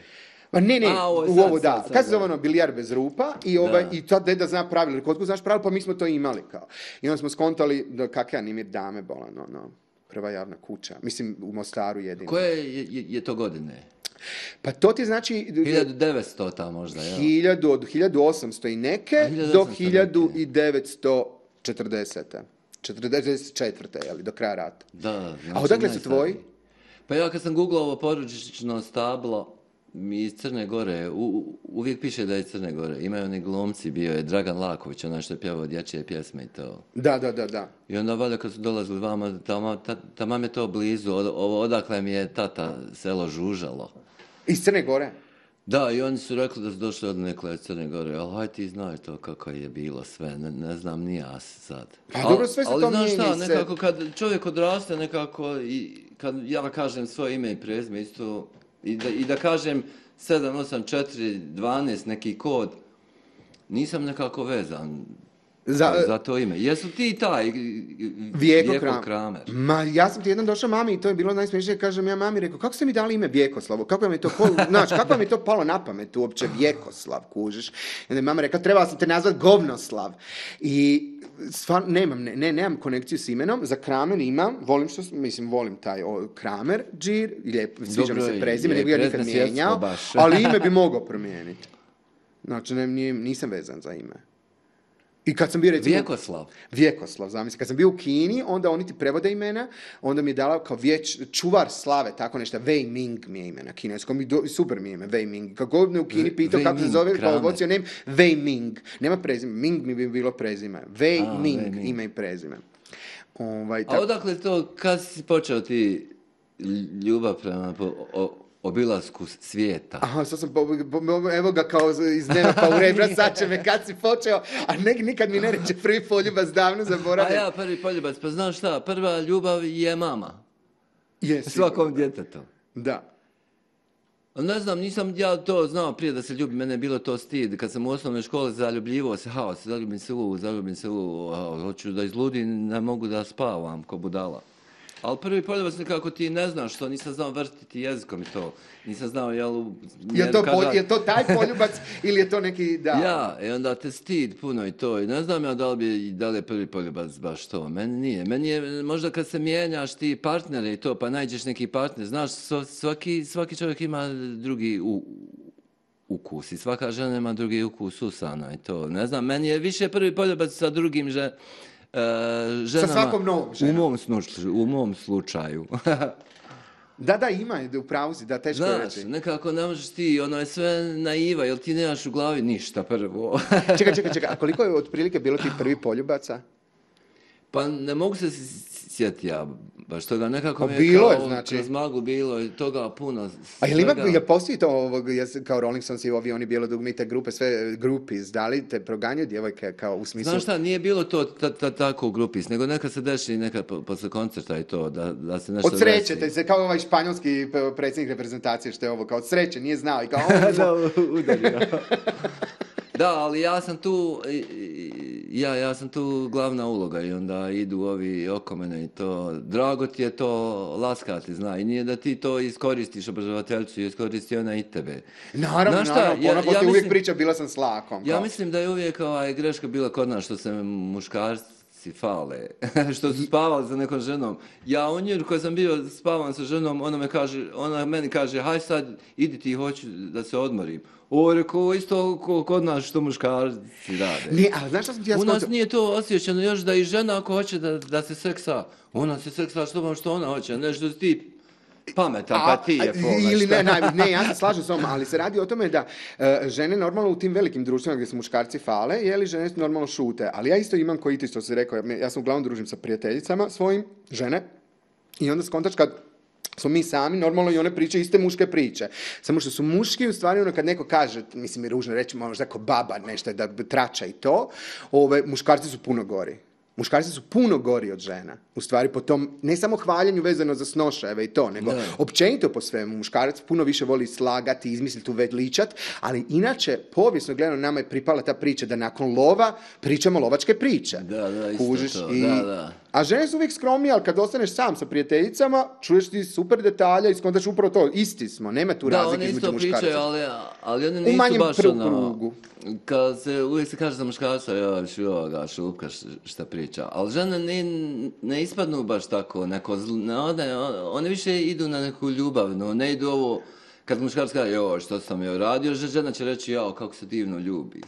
B: Pa ne, ne,
A: A, ovo je
B: u
A: sad,
B: ovo da.
A: sad, sad,
B: Kad se zove
A: da.
B: ono bilijar bez rupa i, ovaj,
A: Da.
B: i to deda zna pravilo, kod ko znaš pravilo, pa mi smo to imali kao. I onda smo skontali da kakve Nimir dame bola, no, no, prva javna kuća. Mislim, u Mostaru jedino.
A: Koje je, je, je to godine?
B: Pa to ti znači...
A: hiljadu devetsto ta možda, jel?
B: Hiljadu, od hiljadu osamsto i neke
A: A, hiljadu
B: do
A: osamsto
B: hiljadu
A: neke.
B: devetsto četrdeset. četrdeset četvrte je li, do kraja rata.
A: Da, znači
B: A odakle su
A: najstariji.
B: tvoji?
A: Pa ja kad sam googlao ovo porodično stablo, mi iz Crne Gore, u, u- uvijek piše da je iz Crne Gore. Imaju oni glumci, bio je Dragan Laković, onaj što je pjevao dječje pjesme i to.
B: Da, da, da, da.
A: I onda valjda kad su dolazili vama, tamo, ta, tamo je to blizu, od, ovo odakle mi je tata selo Žužalo.
B: Iz Crne Gore?
A: Da, i oni su rekli da su došli od nekle iz Crne Gore, ali hajde ti znaj to kako je bilo sve, ne, ne znam ni ja sad.
B: Pa
A: Al-
B: dobro, sve se
A: ali
B: to
A: znaš
B: mijenja
A: šta,
B: i se-
A: nekako kad čovjek odraste nekako i kad ja kažem svoje ime i prezime isto i da, i da kažem sedam, osam, četiri, dvanaest neki kod, nisam nekako vezan
B: Za-
A: za, to ime. Jesu ti taj
B: Vijeko,
A: Vijeko
B: Kram-
A: Kramer?
B: Ma, ja sam ti jednom došao mami i to je bilo najsmiješnije, kažem ja mami, rekao, kako ste mi dali ime Vjekoslav? Kako vam je to, pol, znaš, kako vam je to palo na pamet uopće Vjekoslav, kužiš? I onda je mama rekla, trebala sam te nazvat Govnoslav. I stvarno, nemam, ne, ne, nemam konekciju s imenom, za Kramer imam, volim što, mislim, volim taj o, Kramer, džir, lijep, sviđa mi
A: Dobro,
B: se prezime,
A: je,
B: ne bi ga nikad
A: prezime svjetsko
B: mijenjao,
A: baš.
B: ali ime bi mogao promijeniti. Znači, ne, nije- nisam vezan za ime. I kad sam bio recimo...
A: Vjekoslav.
B: Vjekoslav, zamisli. Kad sam bio u Kini, onda oni ti prevode imena, onda mi je dala kao vječ, čuvar slave, tako nešto, Wei Ming mi je ime na kineskom, i do, super mi je ime, Wei Ming. Kako god me u Kini
A: Wei-
B: pitao
A: Wei
B: kako se
A: Ming,
B: zove, pa
A: Kramer.
B: what's your name? Wei Ming. Nema prezime, Ming mi bi bilo prezime. Wei
A: A,
B: Ming,
A: Wei Ming.
B: ime i prezime. Ovaj,
A: A
B: tako-
A: odakle to, kad si počeo ti ljubav prema po, o, obilasku svijeta?
B: Aha, sad sam, po, po, evo ga kao iz dneva pa u rebra, sad će me kad si počeo, a ne, nikad mi ne reče prvi poljubac, davno
A: A
B: zaboravim.
A: ja prvi poljubac, pa znaš šta, prva ljubav je mama.
B: Je,
A: Svakom
B: sigurno.
A: djetetu.
B: Da.
A: Ne znam, nisam ja to znao prije da se ljubim, mene je bilo to stid. Kad sam u osnovnoj školi zaljubljivo se, hao, se zaljubim se u, zaljubim se u, hao, hoću da izludim, ne mogu da spavam ko budala. Ali prvi poljubac nekako ti ne znaš što, nisam znao vrtiti jezikom i to. Nisam znao, jel... u-
B: Je to,
A: kada-
B: pol- je to taj poljubac ili je to neki, da?
A: Ja, i onda te stid puno i to. I ne znam ja da li, bi, da li je prvi poljubac baš to. Meni nije. Meni je, možda kad se mijenjaš ti partnere i to, pa nađeš neki partner. Znaš, sva- svaki, svaki čovjek ima drugi u, ukus i svaka žena ima drugi ukus usana i to. Ne znam, meni je više prvi poljubac sa drugim že, e, ženama...
B: Sa svakom novom ženom.
A: U mom, slučaju, u mom slučaju.
B: Da, da, ima, u pravu si, da, teško je
A: Znaš,
B: reći.
A: nekako ne možeš ti, ono je sve naiva, jel ti nemaš u glavi ništa prvo.
B: Čekaj, čekaj, čekaj, a koliko je otprilike bilo tih prvi poljubaca?
A: Pa ne mogu se sjetiti ja, baš toga nekako
B: Pa
A: mi je
B: bilo je,
A: kao
B: znači.
A: kroz maglu bilo i toga puno.
B: A jel ima,
A: svega.
B: jel postoji to ovog, jes- kao Rolling Stones i ovi, oni bijelodugmite grupe, sve groupies, da li te proganjaju djevojke kao u smislu...
A: Znaš šta, nije bilo to ta, ta, tako u grupi, nego nekad se desi nekad po, posle koncerta i to, da, da se nešto
B: Od sreće,
A: desi.
B: te se kao ovaj španjolski p- predsjednik reprezentacije što je ovo, kao od sreće, nije znao i kao...
A: Da, udario. Da, ali ja sam tu, ja, ja sam tu glavna uloga i onda idu ovi oko mene i to, drago ti je to laskati, zna, i nije da ti to iskoristiš obožavateljcu, iskoristi ona i tebe.
B: Naravno,
A: Znaš šta,
B: naravno,
A: ja-
B: ona
A: ja
B: poslije uvijek
A: mislim-
B: priča, bila sam s lakom.
A: Ja
B: kao.
A: mislim da je uvijek ovaj, greška bila kod nas što se muškarci fale, što su spavali sa nekom ženom. Ja u nju koji sam bio spavan sa ženom, ona, me kaže, ona meni kaže, haj sad, idi ti, hoću da se odmorim. O, rekao, isto ko- kod nas što muškarci rade.
B: Ne, ali znaš što sam ti ja
A: U nas
B: skontao?
A: nije to osjećano još da i žena ako hoće da, da se seksa, ona se seksa što vam što ona hoće, ne što si ti pametan, pa ti je
B: A,
A: pola,
B: ili
A: šta?
B: ne, ne, ne, ja se slažem s vama, ali se radi o tome da e, žene normalno u tim velikim društvima gdje se muškarci fale, jeli žene normalno šute, ali ja isto imam koji ti što si rekao, ja, ja sam uglavnom družim sa prijateljicama svojim, žene, i onda skontaš kad smo mi sami, normalno i one priče iste muške priče. Samo što su muški, u stvari ono kad neko kaže, mislim mi ružno reći, možda kao baba nešto da trača i to, ove, muškarci su puno gori. Muškarci su puno gori od žena. U stvari po tom, ne samo hvaljenju vezano za snošajeve i to, nego
A: Da.
B: općenito po svemu. Muškarac puno više voli slagati, izmisliti, uveličat, ali inače, povijesno gledano, nama je pripala ta priča da nakon lova pričamo lovačke priče.
A: Da, da, isto
B: Kužiš?
A: to,
B: I...
A: da, da.
B: A žene su uvijek skromnije, ali kad ostaneš sam sa prijateljicama, čuješ ti super detalja i skontaš upravo to. Isti smo, nema tu
A: Da,
B: razlike
A: one
B: između
A: isto
B: muškaraca.
A: pričaju, ali, ali one
B: U
A: nisu
B: manjem
A: baš
B: pr-
A: ono,
B: krugu.
A: kad se, uvijek se kaže za muškarca, joj, šu ovoga, šupka š- šta priča, ali žene ne, ne ispadnu baš tako, neko zl, ne, one, one više idu na neku ljubavnu, ne idu ovo, kad muškarac kaže, joj, što sam joj radio, že- žena će reći, jao, kako se divno ljubi.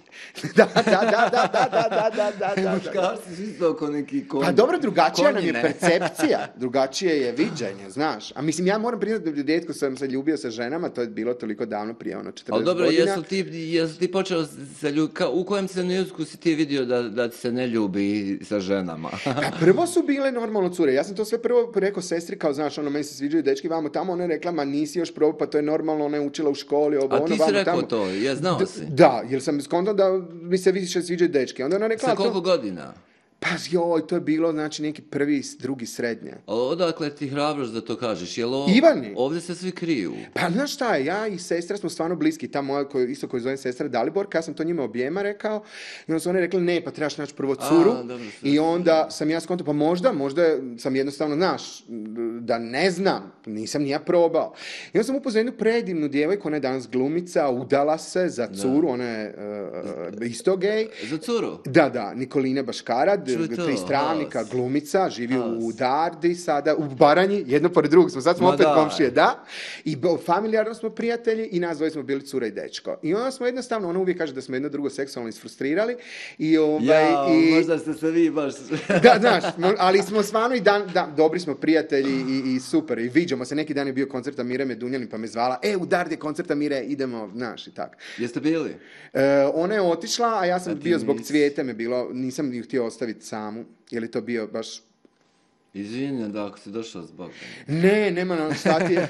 B: da, da, da, da, da, da, da, da, da, da, da.
A: Muškarci su isto oko neki konji.
B: Pa dobro, drugačija nam je
A: konjine.
B: percepcija, drugačije je viđenje, znaš. A mislim, ja moram priznati da rijetko sam se ljubio sa ženama, to je bilo toliko davno, prije ono četrdeset
A: Ali dobro,
B: godina.
A: jesu ti, jesu ti počeo se lju... ka, u kojem se trenutku si ti vidio da, da ti se ne ljubi sa ženama?
B: Pa prvo su bile normalno cure. Ja sam to sve prvo rekao sestri, kao znaš, ono, meni se sviđaju dečki, vamo tamo, ona je rekla, ma nisi još probao, pa to je normalno, ona je učila u školi, ovo,
A: A
B: ono,
A: ti si
B: vamo
A: rekao
B: tamo.
A: to, je, znao
B: D-
A: si.
B: Da, jer sam skontao da mi se više sviđaju dečki. Onda ona rekla,
A: Sa
B: to-
A: koliko godina?
B: pa joj, to je bilo, znači, neki prvi, drugi, srednje.
A: Ali odakle ti hrabrost da to kažeš? Jel o...
B: Ivani.
A: Ovdje se svi kriju.
B: Pa znaš šta je, ja i sestra smo stvarno bliski, ta moja koju, isto koju zovem sestra Daliborka, ja sam to njima objema rekao i onda su one rekli ne, pa trebaš naći prvo curu
A: A, dobro, sve,
B: i onda sam ja skontao, pa možda, možda sam jednostavno, znaš, da ne znam, nisam ni ja probao. I onda sam upoznao jednu predivnu djevojku, ona je danas glumica, udala se za curu, ona je uh, isto gej.
A: Za curu?
B: Da, da, Nikoline Baškarad,
A: Čuj to,
B: tri stravnika,
A: haos.
B: glumica, živi u
A: Haos.
B: Dardi sada, u Baranji, jedno pored drugog smo, sad smo
A: Ma
B: opet
A: daj.
B: komšije, da. I bo- familijarno smo prijatelji i nas dvoje smo bili cura i dečko. I onda smo jednostavno, ona uvijek kaže da smo jedno drugo seksualno isfrustrirali. I, ovaj,
A: Ja,
B: i,
A: možda ste se vi baš...
B: da, znaš, mo- ali smo stvarno i dan, da, dobri smo prijatelji i, i super. I viđamo se, neki dan je bio koncert Mire Medunjanin pa me zvala, e, u Dardi je koncert Mire, idemo, znaš, i tak.
A: Jeste bili?
B: E, ona je otišla, a ja sam
A: A ti
B: bio zbog
A: nisi.
B: Cvijete me bilo, nisam ju htio ostaviti samu. Je li to bio baš...
A: Izvinjam da ako si došao zbog...
B: Ne, nema nam šta ti je.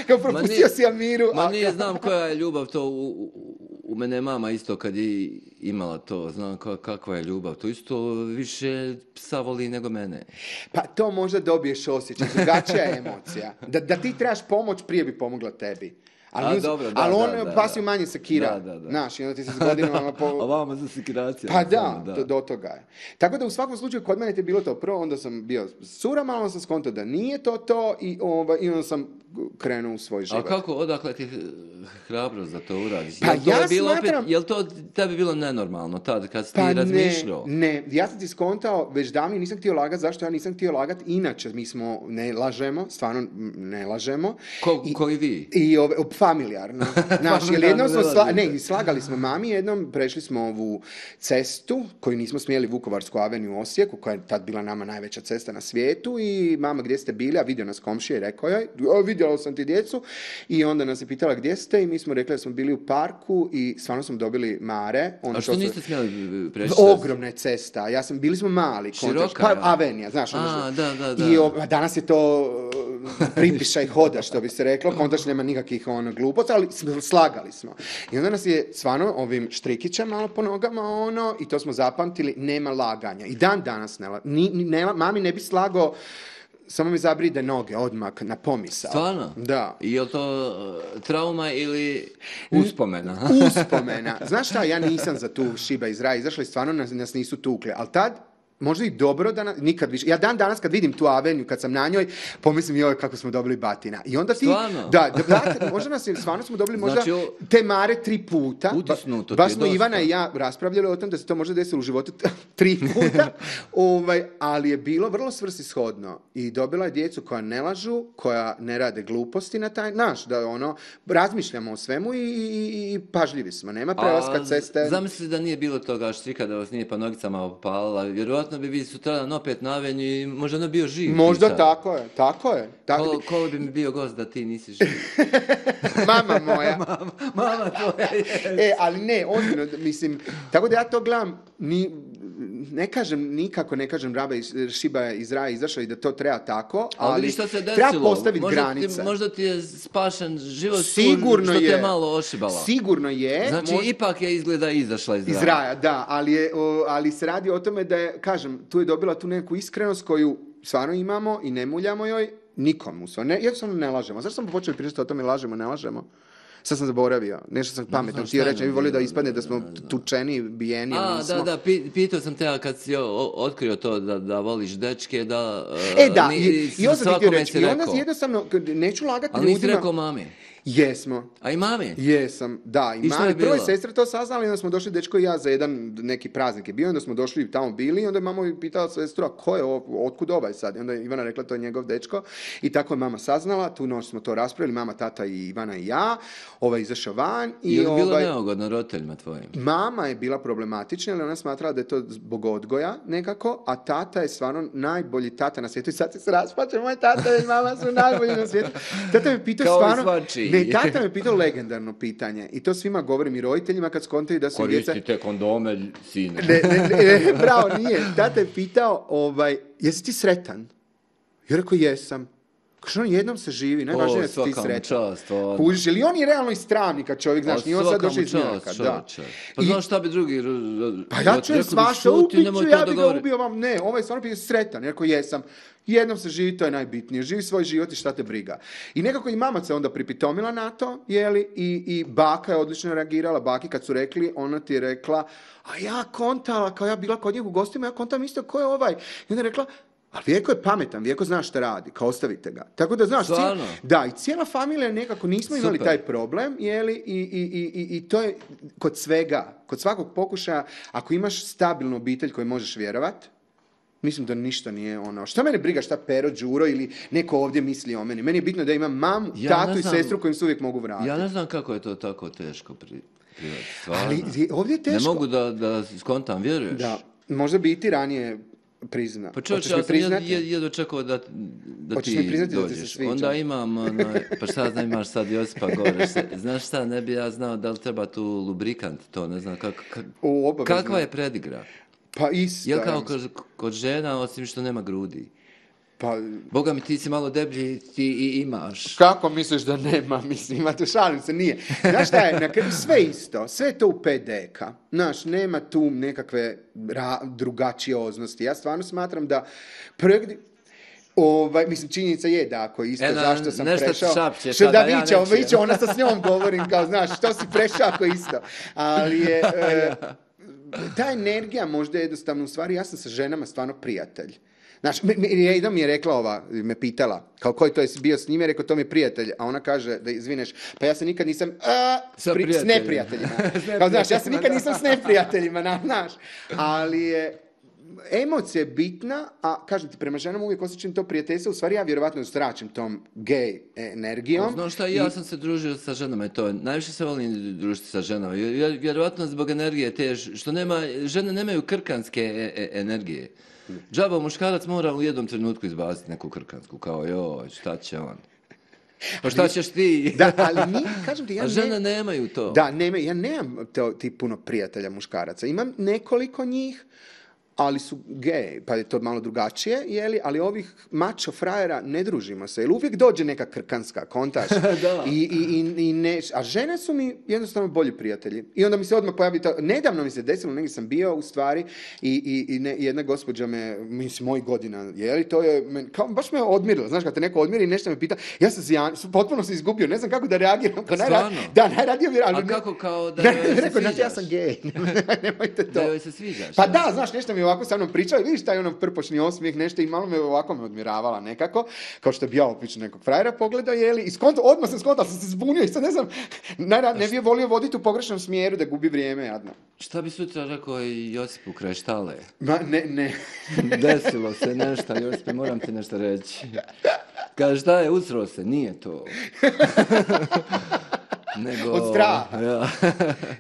B: Kao propustio
A: nije-
B: si Amiru.
A: Ma
B: a-
A: nije, znam koja je ljubav to, u, u, u mene je mama isto kad je imala to, znam ka- kakva je ljubav, to isto više psa voli nego mene.
B: Pa to možda dobiješ osjećaj, drugačija je emocija. Da, da ti trebaš pomoć, prije bi pomogla tebi. Ali,
A: A,
B: nju-
A: dobro, da,
B: ali on
A: da, da,
B: pas ju
A: da.
B: manje sekira.
A: Da, da, da.
B: Znaš, i onda ti se s godinama... Po...
A: A vama za sekiraciju.
B: Pa da, do, do toga je. Tako da u svakom slučaju kod mene ti je bilo to prvo, onda sam bio s curama, onda sam skontao da nije to to i, ovaj, i onda sam krenuo u svoj
A: A
B: život.
A: kako, odakle ti hrabrost da to uradiš?
B: Pa
A: Jel to
B: ja
A: je bilo
B: smatram-
A: opet, jel to tebi bilo nenormalno tad kad si
B: Pa
A: ti
B: ne,
A: razmišljao?
B: ne, ja sam ti skontao, već davno nisam htio lagati, zašto ja nisam htio lagati, inače mi smo, ne lažemo, stvarno m, ne lažemo.
A: Ko,
B: I-
A: koji vi?
B: I ove, op, familijarno. Znaš, jer jednom smo sla... ne, slagali smo mami, jednom prešli smo ovu cestu koju nismo smjeli, Vukovarsku aveniju u Osijeku, koja je tad bila nama najveća cesta na svijetu, i mama, gdje ste bili, a vidio nas komšija i rekao je, vidjela sam ti djecu, i onda nas je pitala gdje ste, i mi smo rekli da smo bili u parku i stvarno smo dobili mare. Ono
A: a što
B: su...
A: niste smjeli preći?
B: Ogromna je cesta, ja sam, bili smo mali.
A: Široka,
B: pa,
A: ja.
B: Avenija, znaš.
A: A, da, da, da.
B: I o, danas je to pripišaj hoda, što bi se reklo, kontač nema nikakvih ono, glupoca, ali slagali smo. I onda nas je stvarno ovim štrikićem malo po nogama, ono, i to smo zapamtili, nema laganja. I dan danas ne, ni, ne, mami ne bi slagao, samo mi zabride noge odmah na pomisao.
A: Stvarno?
B: Da.
A: I je li to uh, trauma ili uspomena?
B: Uspomena. Znaš šta, ja nisam za tu šiba iz raja izašla i stvarno nas, nas nisu tukle, ali tad možda i dobro da na, nikad više. Ja dan danas kad vidim tu aveniju, kad sam na njoj, pomislim joj kako smo dobili batina. I onda ti...
A: Stvarno?
B: Da, da, da, možda nas je, stvarno smo dobili možda
A: znači,
B: te mare tri puta.
A: Utisnuto
B: ba,
A: ti je
B: smo
A: dosta.
B: Ivana i ja raspravljali o tom da se to možda desilo u životu tri puta, ovaj, ali je bilo vrlo svrsishodno. I dobila je djecu koja ne lažu, koja ne rade gluposti na taj, naš, da ono, razmišljamo o svemu i, i, i pažljivi smo. Nema prelaska ceste.
A: Zamisli da nije bilo toga štrika, da vas nije pa nogicama opalila, vjerojatno bi vi sutradan opet na aveniju i možda ne bio živ.
B: Možda tako je, tako je. Tako
A: Ko,
B: bi...
A: ko bi mi bio gost da ti nisi živ?
B: Mama moja.
A: mama, mama tvoja je.
B: E, ali ne, ozbiljno, mislim, tako da ja to gledam, ni, ne kažem, nikako ne kažem raba iz, šiba iz raja izašla i da to treba tako, ali,
A: ali što se desilo?
B: treba postaviti
A: možda
B: granice.
A: Ti, možda ti je spašen život
B: Sigurno
A: što te
B: je.
A: je malo ošibala.
B: Sigurno je.
A: Znači,
B: mož...
A: ipak je izgleda izašla iz raja.
B: Iz raja, da, ali, je, o, ali se radi o tome da je, kažem, tu je dobila tu neku iskrenost koju stvarno imamo i ne muljamo joj nikomu. Ne, jednostavno ne lažemo. Zašto smo počeli pričati o tome lažemo, ne lažemo? Sad sam zaboravio. Nešto sam pametno htio reći. Ne bi volio da ispadne da smo tučeni, bijeni.
A: A,
B: nismo.
A: da, da, pitao sam te kad si otkrio to da, da voliš dečke, da...
B: E, da,
A: ni,
B: i, i onda ti reći. I onda
A: rekao.
B: jednostavno, neću lagati
A: ali
B: ljudima.
A: Ali nisi rekao mami?
B: Jesmo.
A: A i mami?
B: Jesam, da. I,
A: I
B: mami, prvo je sestra to saznala i onda smo došli, dečko i ja, za jedan neki praznik je bio, onda smo došli tamo bili i onda je mama pitala sestru, a ko je ovo, otkud ovaj sad? I onda je Ivana rekla, to je njegov dečko. I tako je mama saznala, tu noć smo to raspravili, mama, tata i Ivana i ja, ovaj izašao van. I
A: je li bilo
B: ovaj,
A: neugodno roditeljima tvojim?
B: Mama je bila problematična, ali ona smatrala da je to zbog odgoja nekako, a tata je stvarno najbolji tata na svijetu. I sad se raspače, moj tata i mama su najbolji na svijetu. Tata me pitao stvarno... Ne, tata me pitao legendarno pitanje. I to svima govorim i roditeljima kad skontaju da su djeca...
A: Koristite kondome, sine.
B: Ne, ne, ne, bravo, nije. Tata je pitao, ovaj, jesi ti sretan? Ja rekao, jesam. Kaže, on jednom se živi, najvažnije je da si ti sretan. Kužiš, ili on je realno iz Travnika čovjek, znaš, nije on sad došao iz Njaka. Da.
A: Pa znaš šta bi drugi...
B: Pa ja ću je svaša, ubiću, ja bi ga ubio vam. Ne, ovaj stvarno pitao, sretan. Ja rekao, jesam. Jednom se živi, to je najbitnije. Živi svoj život i šta te briga. I nekako i mama se onda pripitomila na to, jeli, i, i baka je odlično reagirala. Baki kad su rekli, ona ti je rekla, a ja kontala, kao ja bila kod njih u gostima, ja kontam isto, ko je ovaj? I onda je rekla, ali Vjeko je pametan, Vjeko zna šta radi, kao ostavite ga. Tako da znaš, cijel, da, i cijela familija nekako nismo imali Super. Taj problem, jeli, i, i, i, i to je kod svega, kod svakog pokušaja, ako imaš stabilnu obitelj koju možeš vjerovat, mislim da ništa nije ono. Šta mene briga šta Pero, Đuro ili neko ovdje misli o meni? Meni je bitno da imam mamu, ja tatu i sestru kojim se uvijek mogu vratiti.
A: Ja ne znam kako je to tako teško pri, privati.
B: Ali ovdje je teško.
A: Ne mogu da, da skontam, vjeruješ?
B: Da, možda bi i ti ranije prizna.
A: Pa čovječ, ja sam jedno čekao da, da ti dođeš. Da onda imam, onaj, pa šta znam, imaš sad Josipa gore. Znaš šta, ne bi ja znao da li treba tu lubrikant, to ne znam, kak, kak, o, kakva je predigra?
B: Pa isto.
A: Jel kao kod, kod žena, osim što nema grudi?
B: Pa...
A: Boga mi, ti si malo deblji, ti i imaš.
B: Kako misliš da nema? Mislim, imate, šalim se, nije. Znaš šta je, na kraju sve isto, sve je to u pet deka. Znaš, nema tu nekakve ra- drugačioznosti. Ja stvarno smatram da projekt... Ovaj, mislim, činjenica je da ako isto, e, zašto sam
A: nešto
B: prešao...
A: Šapće,
B: što da
A: ja
B: viće, viće, ona sa s njom govorim, kao, znaš, što si prešao ako isto. Ali je... E, ta energija možda je jednostavno, u stvari, ja sam sa ženama stvarno prijatelj. Znaš, jedna mi je rekla ova, me pitala, kao koji to je bio s njime, rekao, to mi je prijatelj, a ona kaže, da izvineš, pa ja se nikad nisam, a, s, pri, s neprijateljima. Kao, znaš, ja se nikad nisam s neprijateljima, na, znaš, ali je, emocija je bitna, a kažem ti, prema ženama uvijek osjećam to prijateljstvo, u stvari ja vjerovatno zračim tom gej energijom.
A: Znaš šta, ja sam se družio sa ženama i to, najviše se volim družiti sa ženama, Vjer- vjerovatno zbog energije te, što nema, žene nemaju krkanske e- e- energije. Džaba muškarac mora u jednom trenutku izbaciti neku krkansku, kao joj, šta će on? Pa šta ćeš ti?
B: Da, ali mi, kažem ti, ja
A: A
B: ne...
A: žene nemaju to.
B: Da, nema, ja nemam to, ti puno prijatelja muškaraca. Imam nekoliko njih, ali su gej, pa je to malo drugačije, jeli? Ali ovih mačo frajera ne družimo se, jer uvijek dođe neka krkanska, kontaš.
A: Da.
B: I, i, i, i ne, a žene su mi jednostavno bolji prijatelji. I onda mi se odmah pojavi to, nedavno mi se desilo, negdje sam bio u stvari i, i, i ne, jedna gospođa me, mislim, mojih godina, jeli, to je, men, kao, baš me odmirilo, znaš, kad te neko odmiri i nešto me pita, ja sam se, ja, potpuno se izgubio, ne znam kako da reagiram. Kao najra-
A: Stvarno?
B: Da, najradije bi, ali
A: A
B: ne-
A: kako kao da
B: Ne,
A: joj se
B: rekao, znači, ja
A: sviđaš?
B: sam gej, nemojte to.
A: Da joj se sviđaš?
B: Pa
A: ja?
B: da, znaš, nešto mi je ovako sa mnom pričao i vidiš taj ono prpošni osmijeh, nešto i malo me ovako me odmiravala nekako, kao što bi ja opično nekog frajera pogledao, jeli, i skonto, odmah sam skontao, sam se zbunio i sad ne znam, najra- ne bi je volio voditi u pogrešnom smjeru da gubi vrijeme, jadno.
A: Šta bi sutra rekao i Josipu kraj štale?
B: Ma, ne, ne.
A: Desilo se nešto, Josipe, moram ti nešto reći. Kaže, šta je, usro se, nije to. Nego,
B: Od straha.
A: Ja.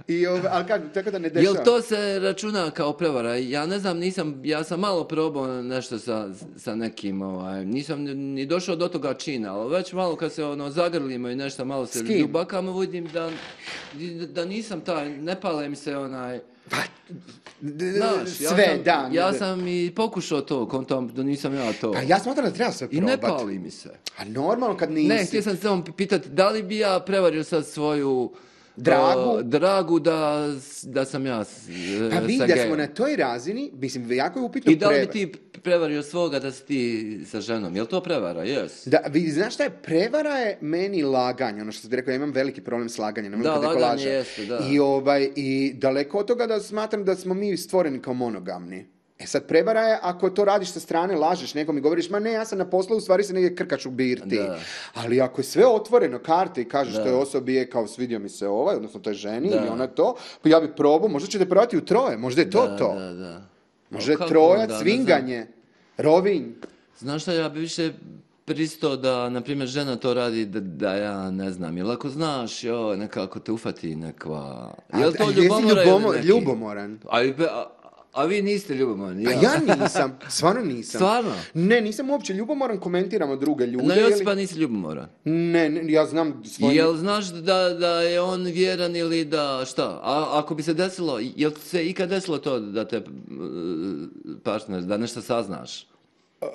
B: I, ove, ali kako, tako da ne dešava.
A: Jel to se računa kao prevara? Ja ne znam, nisam, ja sam malo probao nešto sa, sa nekim, ovaj, nisam ni, ni došao do toga čina, ali već malo kad se ono zagrlimo i nešto malo se
B: S kim?
A: ljubakamo, vidim da, da nisam taj, ne pale mi se onaj,
B: Pa, d-
A: znaš, ja
B: sve,
A: sam,
B: da.
A: ja
B: da.
A: sam i pokušao to, kontam da nisam ja to.
B: Pa ja smatram da treba sve
A: I
B: probat.
A: ne pali mi se.
B: A normalno kad nisi.
A: Ne, htio sam se samo pitati, da li bi ja prevario sad svoju
B: Dragu?
A: uh, dragu da, da sam ja s-
B: Pa
A: sa
B: vidi da
A: gejom.
B: smo na toj razini, mislim, jako je upitno
A: I da li bi
B: preva-
A: ti prevario svoga da si ti sa ženom? Jel to prevara? Jes.
B: Da, vidi, znaš šta je, prevara je meni laganje, ono što ti rekao, ja imam veliki problem s laganjem, ne volim
A: Da,
B: kad neko
A: laganje
B: laže.
A: jeste, da.
B: I, ovaj, I daleko od toga da smatram da smo mi stvoreni kao monogamni. E sad, prevara je ako to radiš sa strane, lažeš nekom i govoriš, ma ne, ja sam na poslu, u stvari se negdje krkač u birti.
A: Da.
B: Ali ako je sve otvoreno, karte i kažeš
A: Da.
B: toj osobi je kao svidio mi se ovaj, odnosno toj ženi
A: Da.
B: ili ona to, pa ja bi probao, možda ćete provati u troje, možda je to
A: Da,
B: to.
A: Da, da.
B: Možda je
A: Kako
B: trojac,
A: onda, ne
B: svinganje, rovinj.
A: Znaš šta, ja bi više pristao da, na primjer, žena to radi da, da ja ne znam. Jel ako znaš, jo, nekako te ufati nekva... Jel
B: A-
A: to
B: a jesi
A: ljubomora
B: ljubomo-
A: ili neki?
B: ljubomoran?
A: A, i pe- a, a vi niste ljubomorni,
B: A ja nisam, stvarno nisam.
A: Stvarno?
B: Ne, nisam uopće ljubomoran, komentiramo druge ljude.
A: Na
B: ili-
A: Josipa nisi ljubomoran.
B: Ne, ne, ja znam svoj...
A: Jel znaš da, da je on vjeran ili da šta? A ako bi se desilo, jel ti se ikad desilo to da te uh, partner, da nešto saznaš?
B: Uh,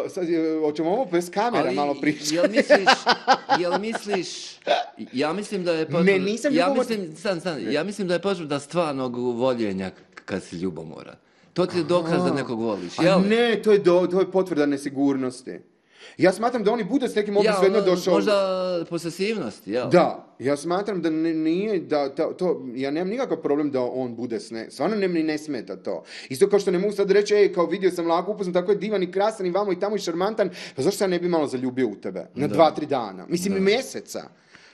B: sad, je- hoćemo ovo bez kamera malo pričati.
A: Jel misliš, jel misliš, ja mislim da je potrebno,
B: Ne, nisam
A: ja
B: ljubomor-
A: mislim, stan, stan, ja mislim da je potrebno da stvarnog voljenja kad si ljubomoran. To ti je dokaz da nekog voliš,
B: A
A: jel?
B: ne, to je, do, to je potvrda nesigurnosti. Ja smatram da oni bude s nekim
A: Ja,
B: svejedno
A: ono,
B: došao...
A: možda posesivnosti, jel?
B: Da, ja smatram da ne- nije, da, da to, ja nemam nikakav problem da on bude s ne, stvarno ne, mi ne smeta to. Isto kao što ne mogu sad reći, ej, kao vidio sam lako upoznat, tako je divan i krasan i vamo i tamo i šarmantan, pa zašto se ja ne bi malo zaljubio u tebe? Na dva, tri dana. Mislim, i mjeseca.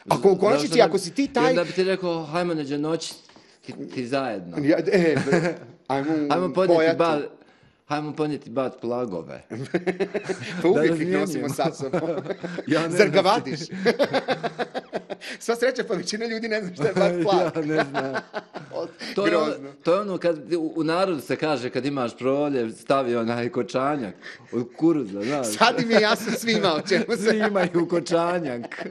B: Ako u konačnici,
A: Zašto ne-
B: ako si ti
A: I
B: taj...
A: onda bi ti rekao, hajmo neđe noć, ti, ti zajedno.
B: Ja, e, bre, ajmo,
A: Hajmo podnijeti
B: pojati.
A: bat, hajmo podnijeti bat plagove.
B: Pa uvijek ih
A: razmijenimo.
B: nosimo sa sobom.
A: Ja ne
B: Zar ga
A: znam.
B: vadiš? Sva sreća, pa većina ljudi ne zna šta je bat plak.
A: Ja ne znam.
B: Od-
A: To je, ono,
B: Grozno.
A: to je ono kad u, u narodu se kaže kad imaš proljev stavi onaj kočanjak od kuruza, znaš.
B: Sad im je jasno svima o čemu se...
A: Svi imaju kočanjak.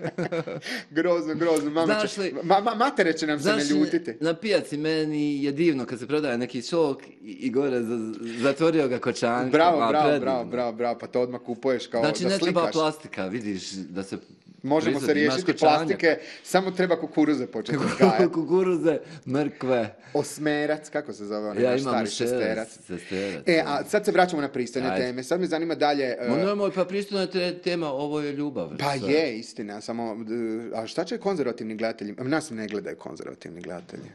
B: Grozno, grozno. Mama
A: Znaš
B: će,
A: li-
B: ma, ma, matere će nam se
A: Znaš,
B: ne ljutiti.
A: na pijaci meni je divno kad se prodaje neki sok i, i gore za, zatvorio ga kočankom.
B: Bravo,
A: a,
B: bravo,
A: predivno.
B: bravo, bravo, bravo, pa to odmah kupuješ kao
A: Znači
B: da
A: ne treba
B: slikaš.
A: plastika, vidiš da se
B: Možemo se
A: proizvodi, imaš
B: riješiti
A: kočanjak.
B: plastike, samo treba kukuruze početi uzgajati.
A: Kukuruze, mrkve.
B: Osmerac, kako se zove onaj
A: Ja
B: naš
A: imam
B: stari
A: šesterac,
B: šesterac?
A: šesterac.
B: E, a sad se vraćamo na pristojne
A: Ajde.
B: teme. Sad me zanima dalje... e,
A: Ma nemoj, pa pristojna je te- tema, ovo je ljubav.
B: Pa
A: Sve.
B: je, istina, samo... e, A šta će konzervativni gledatelji? Nas ne gledaju konzervativni gledatelji.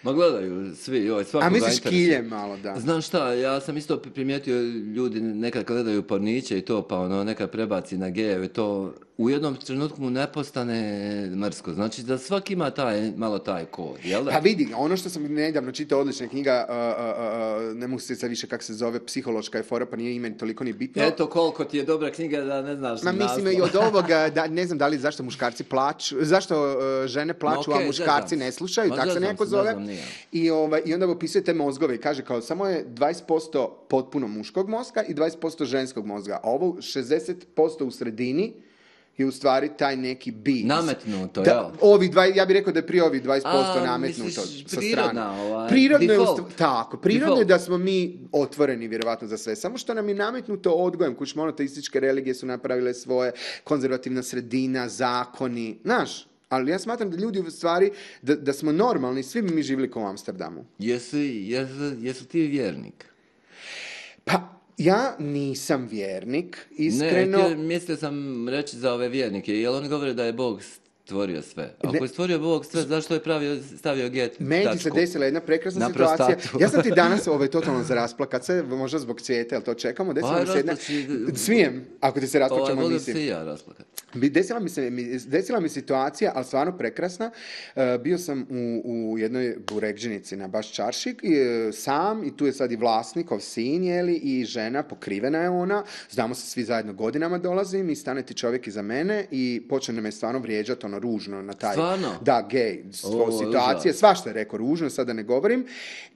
A: Ma gledaju svi, joj,
B: A
A: svakoga
B: misliš
A: interesuje.
B: kilje malo, da.
A: Znaš šta, ja sam isto primijetio ljudi nekad gledaju porniće i to, pa ono nekad prebaci na gejeve, to u jednom trenutku mu ne postane mrsko. Znači da svaki ima taj, malo taj kod, jel da?
B: Pa vidi, ono što sam nedavno čitao, odlična knjiga, uh, uh, uh, ne mogu se sad više kako se zove, psihološka je fora, pa nije ime toliko ni bitno.
A: Eto koliko ti je dobra knjiga da ne znaš
B: Ma mislim i od ovoga, da, ne znam da li zašto muškarci plaču, zašto uh, žene plaču,
A: Ma, okay,
B: a muškarci
A: zezam.
B: ne slušaju,
A: Ma,
B: tako se
A: zezam
B: neko
A: se,
B: zove.
A: ne znam, nije.
B: I, ovaj, I onda opisuje te mozgove i kaže kao samo je dvadeset posto potpuno muškog mozga i dvadeset posto ženskog mozga. A ovo šezdeset posto u sredini je u stvari taj neki bi.
A: Nametnuto,
B: da,
A: jel?
B: Ovi dva, ja bih rekao da je prije ovih dvadeset posto
A: A,
B: nametnuto
A: misliš,
B: sa
A: prirodna,
B: strane.
A: ovaj,
B: Prirodno je,
A: default.
B: usta- tako, prirodno je
A: Default.
B: da smo mi otvoreni vjerovatno za sve. Samo što nam je nametnuto odgojem, kuć monoteističke religije su napravile svoje, konzervativna sredina, zakoni, znaš. Ali ja smatram da ljudi u stvari, da, da smo normalni, svi bi mi živjeli kao u Amsterdamu.
A: Jesi, jesu, jesu ti vjernik?
B: Pa, ja nisam vjernik, iskreno.
A: Ne, htio- mislio sam reći za ove vjernike, jer oni govore da je Bog stvorio sve. Ako
B: Ne.
A: je stvorio Bog sve, zašto je pravio, stavio get
B: Meni ti se
A: tačku?
B: desila jedna prekrasna
A: Na
B: situacija.
A: prostatu.
B: Ja sam ti danas ovaj, totalno za rasplakat se, možda zbog cvijeta, jel to čekamo? Desila
A: Aj,
B: mi se jedna...
A: rasplači-
B: Smijem, ako ti se
A: Ovaj,
B: rasplačamo
A: volim
B: emisiju.
A: se i ja rasplakat.
B: Bi- Desila mi, se, mi- desila mi situacija, ali stvarno prekrasna. E, bio sam u, u jednoj burekđinici na baš čaršik, i, e, sam, i tu je sad i vlasnikov sin, jeli, i žena, pokrivena je ona. Znamo se svi zajedno godinama dolazim i stane ti čovjek iza mene i počne me stvarno vrijeđati, ono, ružno na taj...
A: Stvarno?
B: Da, gej,
A: O,
B: situacije,
A: užas.
B: svašta je rekao ružno, sad da ne govorim.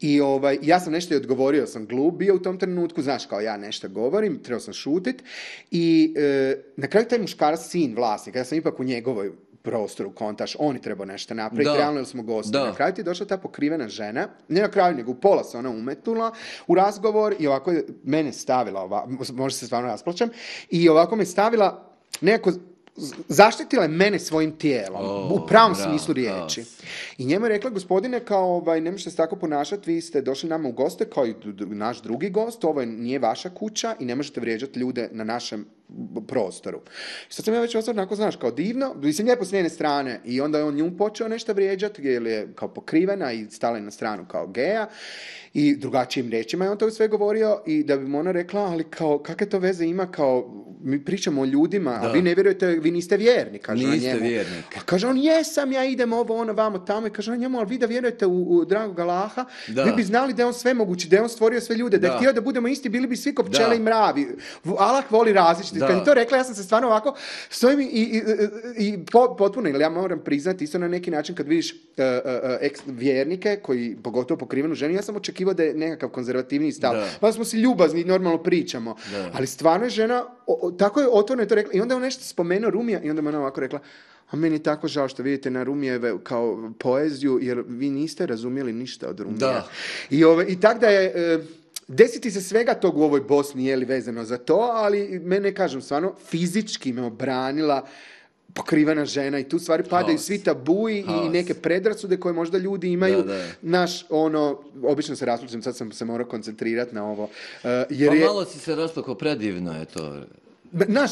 B: I ovaj, ja sam nešto i odgovorio, sam glup bio u tom trenutku, znaš, kao ja nešto govorim, trebao sam šutit. I e, na kraju taj muškarac, sin vlasnika, ja sam ipak u njegovoj prostoru, kontaš, on je trebao nešto napraviti,
A: Da.
B: realno jer smo gosti.
A: Da.
B: Na kraju ti je došla ta pokrivena žena, ne na kraju, nego u pola se ona umetnula u razgovor i ovako je mene stavila, ova, možda se stvarno rasplačem, i ovako me stavila nekako, zaštitila je mene svojim tijelom,
A: O,
B: u pravom
A: bravo,
B: smislu
A: bravo.
B: riječi. I njemu je rekla, gospodine, kao, ovaj, ne možete se tako ponašati, vi ste došli nama u goste, kao i d- d- naš drugi gost, ovo je, nije vaša kuća i ne možete vrijeđati ljude na našem b- prostoru. I sad sam ja već ostao onako, znaš, kao divno, mislim lijepo s njene strane, i onda je on nju počeo nešto vrijeđati, jer je kao pokrivena i stala je na stranu kao geja, i drugačijim riječima je on to sve govorio, i da bi mu ona rekla, ali kao, kakve to veze ima, kao, mi pričamo o ljudima, a
A: Da.
B: vi ne vjerujete, vi niste vjerni, kaže ona
A: Niste
B: njemu.
A: vjernik.
B: A kaže on, jesam, ja idem ovo, ono, vamo, tamo. I kaže on njemu, ali vi da vjerujete u, u dragog Allaha,
A: Da.
B: vi bi znali da je on svemogući, da je on stvorio sve ljude, da, je
A: Da.
B: htio da budemo isti, bili bi svi ko pčele
A: Da.
B: i mravi. V- Allah voli različiti.
A: Da.
B: Kad je to rekla, ja sam se stvarno ovako, stojim i, i, i, i po- potpuno, ili ja moram priznati, isto na neki način kad vidiš uh, uh, eks vjernike, koji, pogotovo pokrivenu ženu, ja sam očekivao da je nekakav konzervativniji stav.
A: Da.
B: Pa smo si ljubazni i normalno pričamo.
A: Da.
B: Ali stvarno je žena, o, o, tako je otvoreno to rekla. I onda je on nešto spomenuo Rumija i onda me ona ovako rekla, a meni je tako žao što vidite na Rumijeve kao poeziju, jer vi niste razumjeli ništa od Rumija.
A: Da.
B: I, ove, i tak da je... E, desiti se svega tog u ovoj Bosni, je li vezano za to, ali mene, kažem, stvarno fizički me obranila pokrivena žena i tu stvari padaju
A: Haos.
B: svi tabuji i
A: Haos.
B: neke predrasude koje možda ljudi imaju.
A: Da, da.
B: Naš, ono, obično se raspličem, sad sam se morao koncentrirati na ovo. E, jer
A: Pa
B: je,
A: malo si se rasplakao, predivno je to.
B: Naš,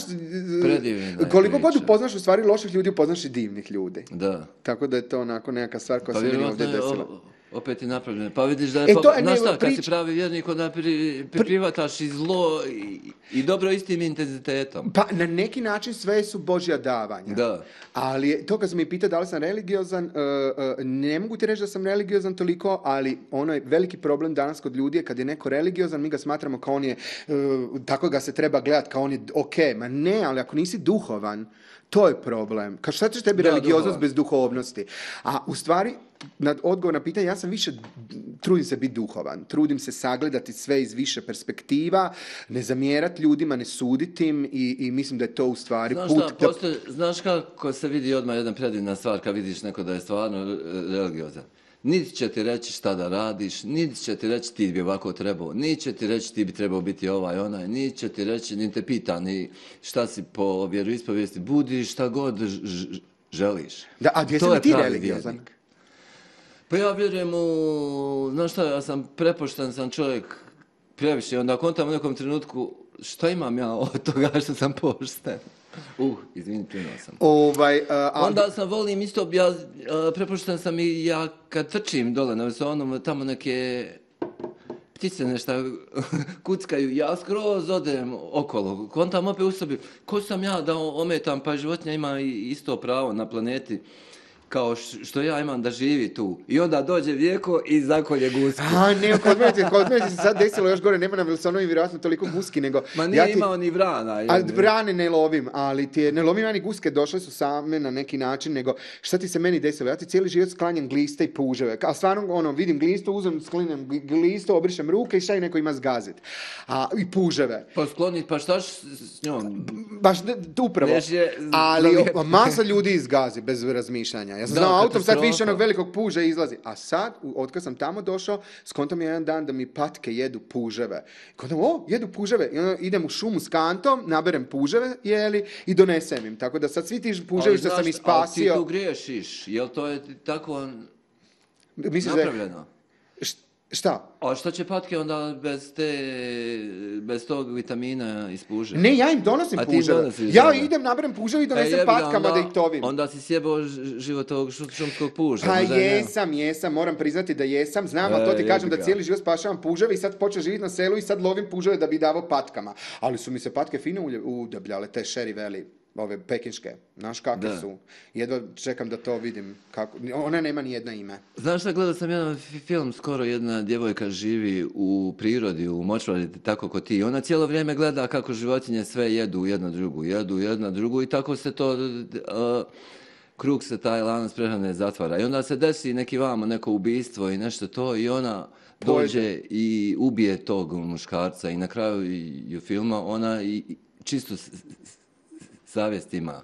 A: Predivna je
B: koliko god
A: priča.
B: upoznaš u stvari loših ljudi, upoznaš i divnih ljudi.
A: Da.
B: Tako da je to onako nekakva stvar koja
A: Pa
B: se meni
A: vjerovatno
B: ovdje
A: je
B: desila.
A: o- opet je napravljeno. Pa vidiš da je...
B: E,
A: pa,
B: to je,
A: znaš
B: ne,
A: šta, kad
B: prič-
A: si pravi vjernik, onda pri, pri, privataš i zlo i, i dobro istim intenzitetom.
B: Pa na neki način sve su Božja davanja.
A: Da.
B: Ali je- to kad sam mi pitao da li sam religiozan, uh, uh, ne mogu ti reći da sam religiozan toliko, ali ono je veliki problem danas kod ljudi je kad je neko religiozan, mi ga smatramo kao on je, uh, tako ga se treba gledati, kao on je ok. Ma ne, ali ako nisi duhovan, to je problem. Kao šta će tebi
A: Da,
B: religioznost
A: duhovan.
B: bez duhovnosti? A u stvari, na odgovor na pitanje, ja sam više, trudim se biti duhovan, trudim se sagledati sve iz više perspektiva, ne zamjerati ljudima, ne suditi im i, i mislim da je to u stvari
A: Znaš
B: put
A: šta,
B: da-
A: postoje, znaš kako se vidi odmah jedna predivna stvar kad vidiš neko da je stvarno e, religiozan. Niti će ti reći šta da radiš, niti će ti reći ti bi ovako trebao, niti će ti reći ti bi trebao biti ovaj, onaj, niti će ti reći, ni te pita ni šta si po vjeroispovijesti, budi šta god ž- ž- želiš.
B: Da, a gdje si
A: To
B: li
A: je
B: ti
A: pravi
B: religiozan?
A: vjernik. Pa ja vjerujem u, znaš šta, ja sam prepošten sam čovjek previše, onda kontam u nekom trenutku šta imam ja od toga što sam pošten. Uh, izvini, pljunuo sam.
B: Ovaj, uh, a,
A: Onda sam volim isto, ja uh, prepošten sam i ja kad trčim dole na visonom, tamo neke ptice nešto kuckaju, ja skroz odem okolo, kontam opet u sebi, ko sam ja da ometam, pa životinja ima isto pravo na planeti kao što ja imam da živi tu. I onda dođe Vjeko i zakolje gusku.
B: A, ne, kod mene, kod mene se sad desilo još gore, nema na Wilsonovi vjerojatno toliko guski, nego...
A: Ma nije
B: ja ti,
A: imao ni vrana.
B: A vrane ne lovim, ali ti je, ne lovim ja ni guske, došle su same na neki način, nego šta ti se meni desilo? Ja ti cijeli život sklanjam gliste i puževe. A stvarno, ono, vidim glistu, uzem, sklanjam glistu, obrišem ruke i šta i neko ima zgazit. A, i puževe.
A: Pa sklonit, pa šta s, s njom?
B: Baš, upravo.
A: Je,
B: ali o, masa ljudi izgazi bez razmišljanja. Ja sam znao autom, sad više onog velikog puža izlazi. A sad, otkad sam tamo došao, skontam je jedan dan da mi patke jedu puževe. Kontam, o, jedu puževe. I onda idem u šumu s kantom, naberem puževe, jeli, i donesem im. Tako da sad svi ti puževi što sam ispasio...
A: Ali ti tu griješiš, jel to je tako
B: Misliš
A: napravljeno?
B: Da, šta?
A: A što će patke onda bez te, bez tog vitamina iz puževa?
B: Ne, ja im donosim puževe. Ja da, idem, naberem puževe i donesem e, patkama onda, da ih tovim.
A: Onda si sjebao život ovog šumskog puža.
B: Pa jesam, ne... jesam, moram priznati da jesam. Znam, e, ali to ti kažem da cijeli život spašavam puževe i sad počeo živjeti na selu i sad lovim puževe da bi davao patkama. Ali su mi se patke fino udebljale, te Sherry Valley. Ove pekinške, znaš kakve da. Su. Jedva čekam da to vidim. Kako. Ona nema ni jedna ime.
A: Znaš šta, gledao sam jedan film, skoro jedna djevojka živi u prirodi, u močvari, tako ko ti. Ona cijelo vrijeme gleda kako životinje sve jedu jedna drugu, jedu jedna drugu i tako se to, uh, krug se taj lanac prehrane zatvara. I onda se desi neki vamo, neko ubistvo i nešto to i ona dođe i ubije tog muškarca i na kraju i, i filma ona i, čisto savjest ima.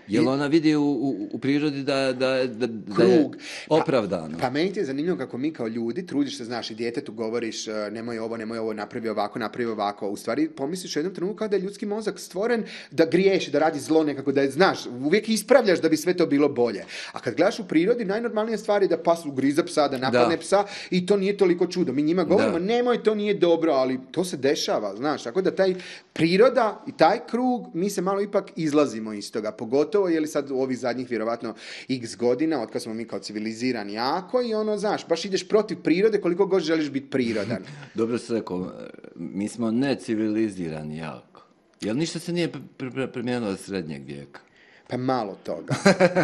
A: Jel ona vidi u, u, u prirodi da, da, da, da je opravdano?
B: Pa, pa meni ti je zanimljivo kako mi kao ljudi trudiš se, znaš, i djetetu govoriš nemoj ovo, nemoj ovo, napravi ovako, napravi ovako. U stvari pomisliš u jednom trenutku kao da je ljudski mozak stvoren da griješi, da radi zlo nekako, da je, znaš, uvijek ispravljaš da bi sve to bilo bolje. A kad gledaš u prirodi, najnormalnija stvar je da pas ugriza psa, da napadne da. Psa i to nije toliko čudo. Mi njima govorimo, da. Nemoj, to nije dobro, ali to se dešava, znaš. Tako da taj priroda i taj krug, mi se malo ipak izlazimo iz toga, pogotovo je li sad u ovih zadnjih vjerovatno x godina, otkad smo mi kao civilizirani jako i ono, znaš, baš ideš protiv prirode koliko god želiš biti prirodan.
A: Dobro se rekao, mi smo necivilizirani jako. Jel ništa se nije promijenilo od srednjeg vijeka?
B: Pa malo toga,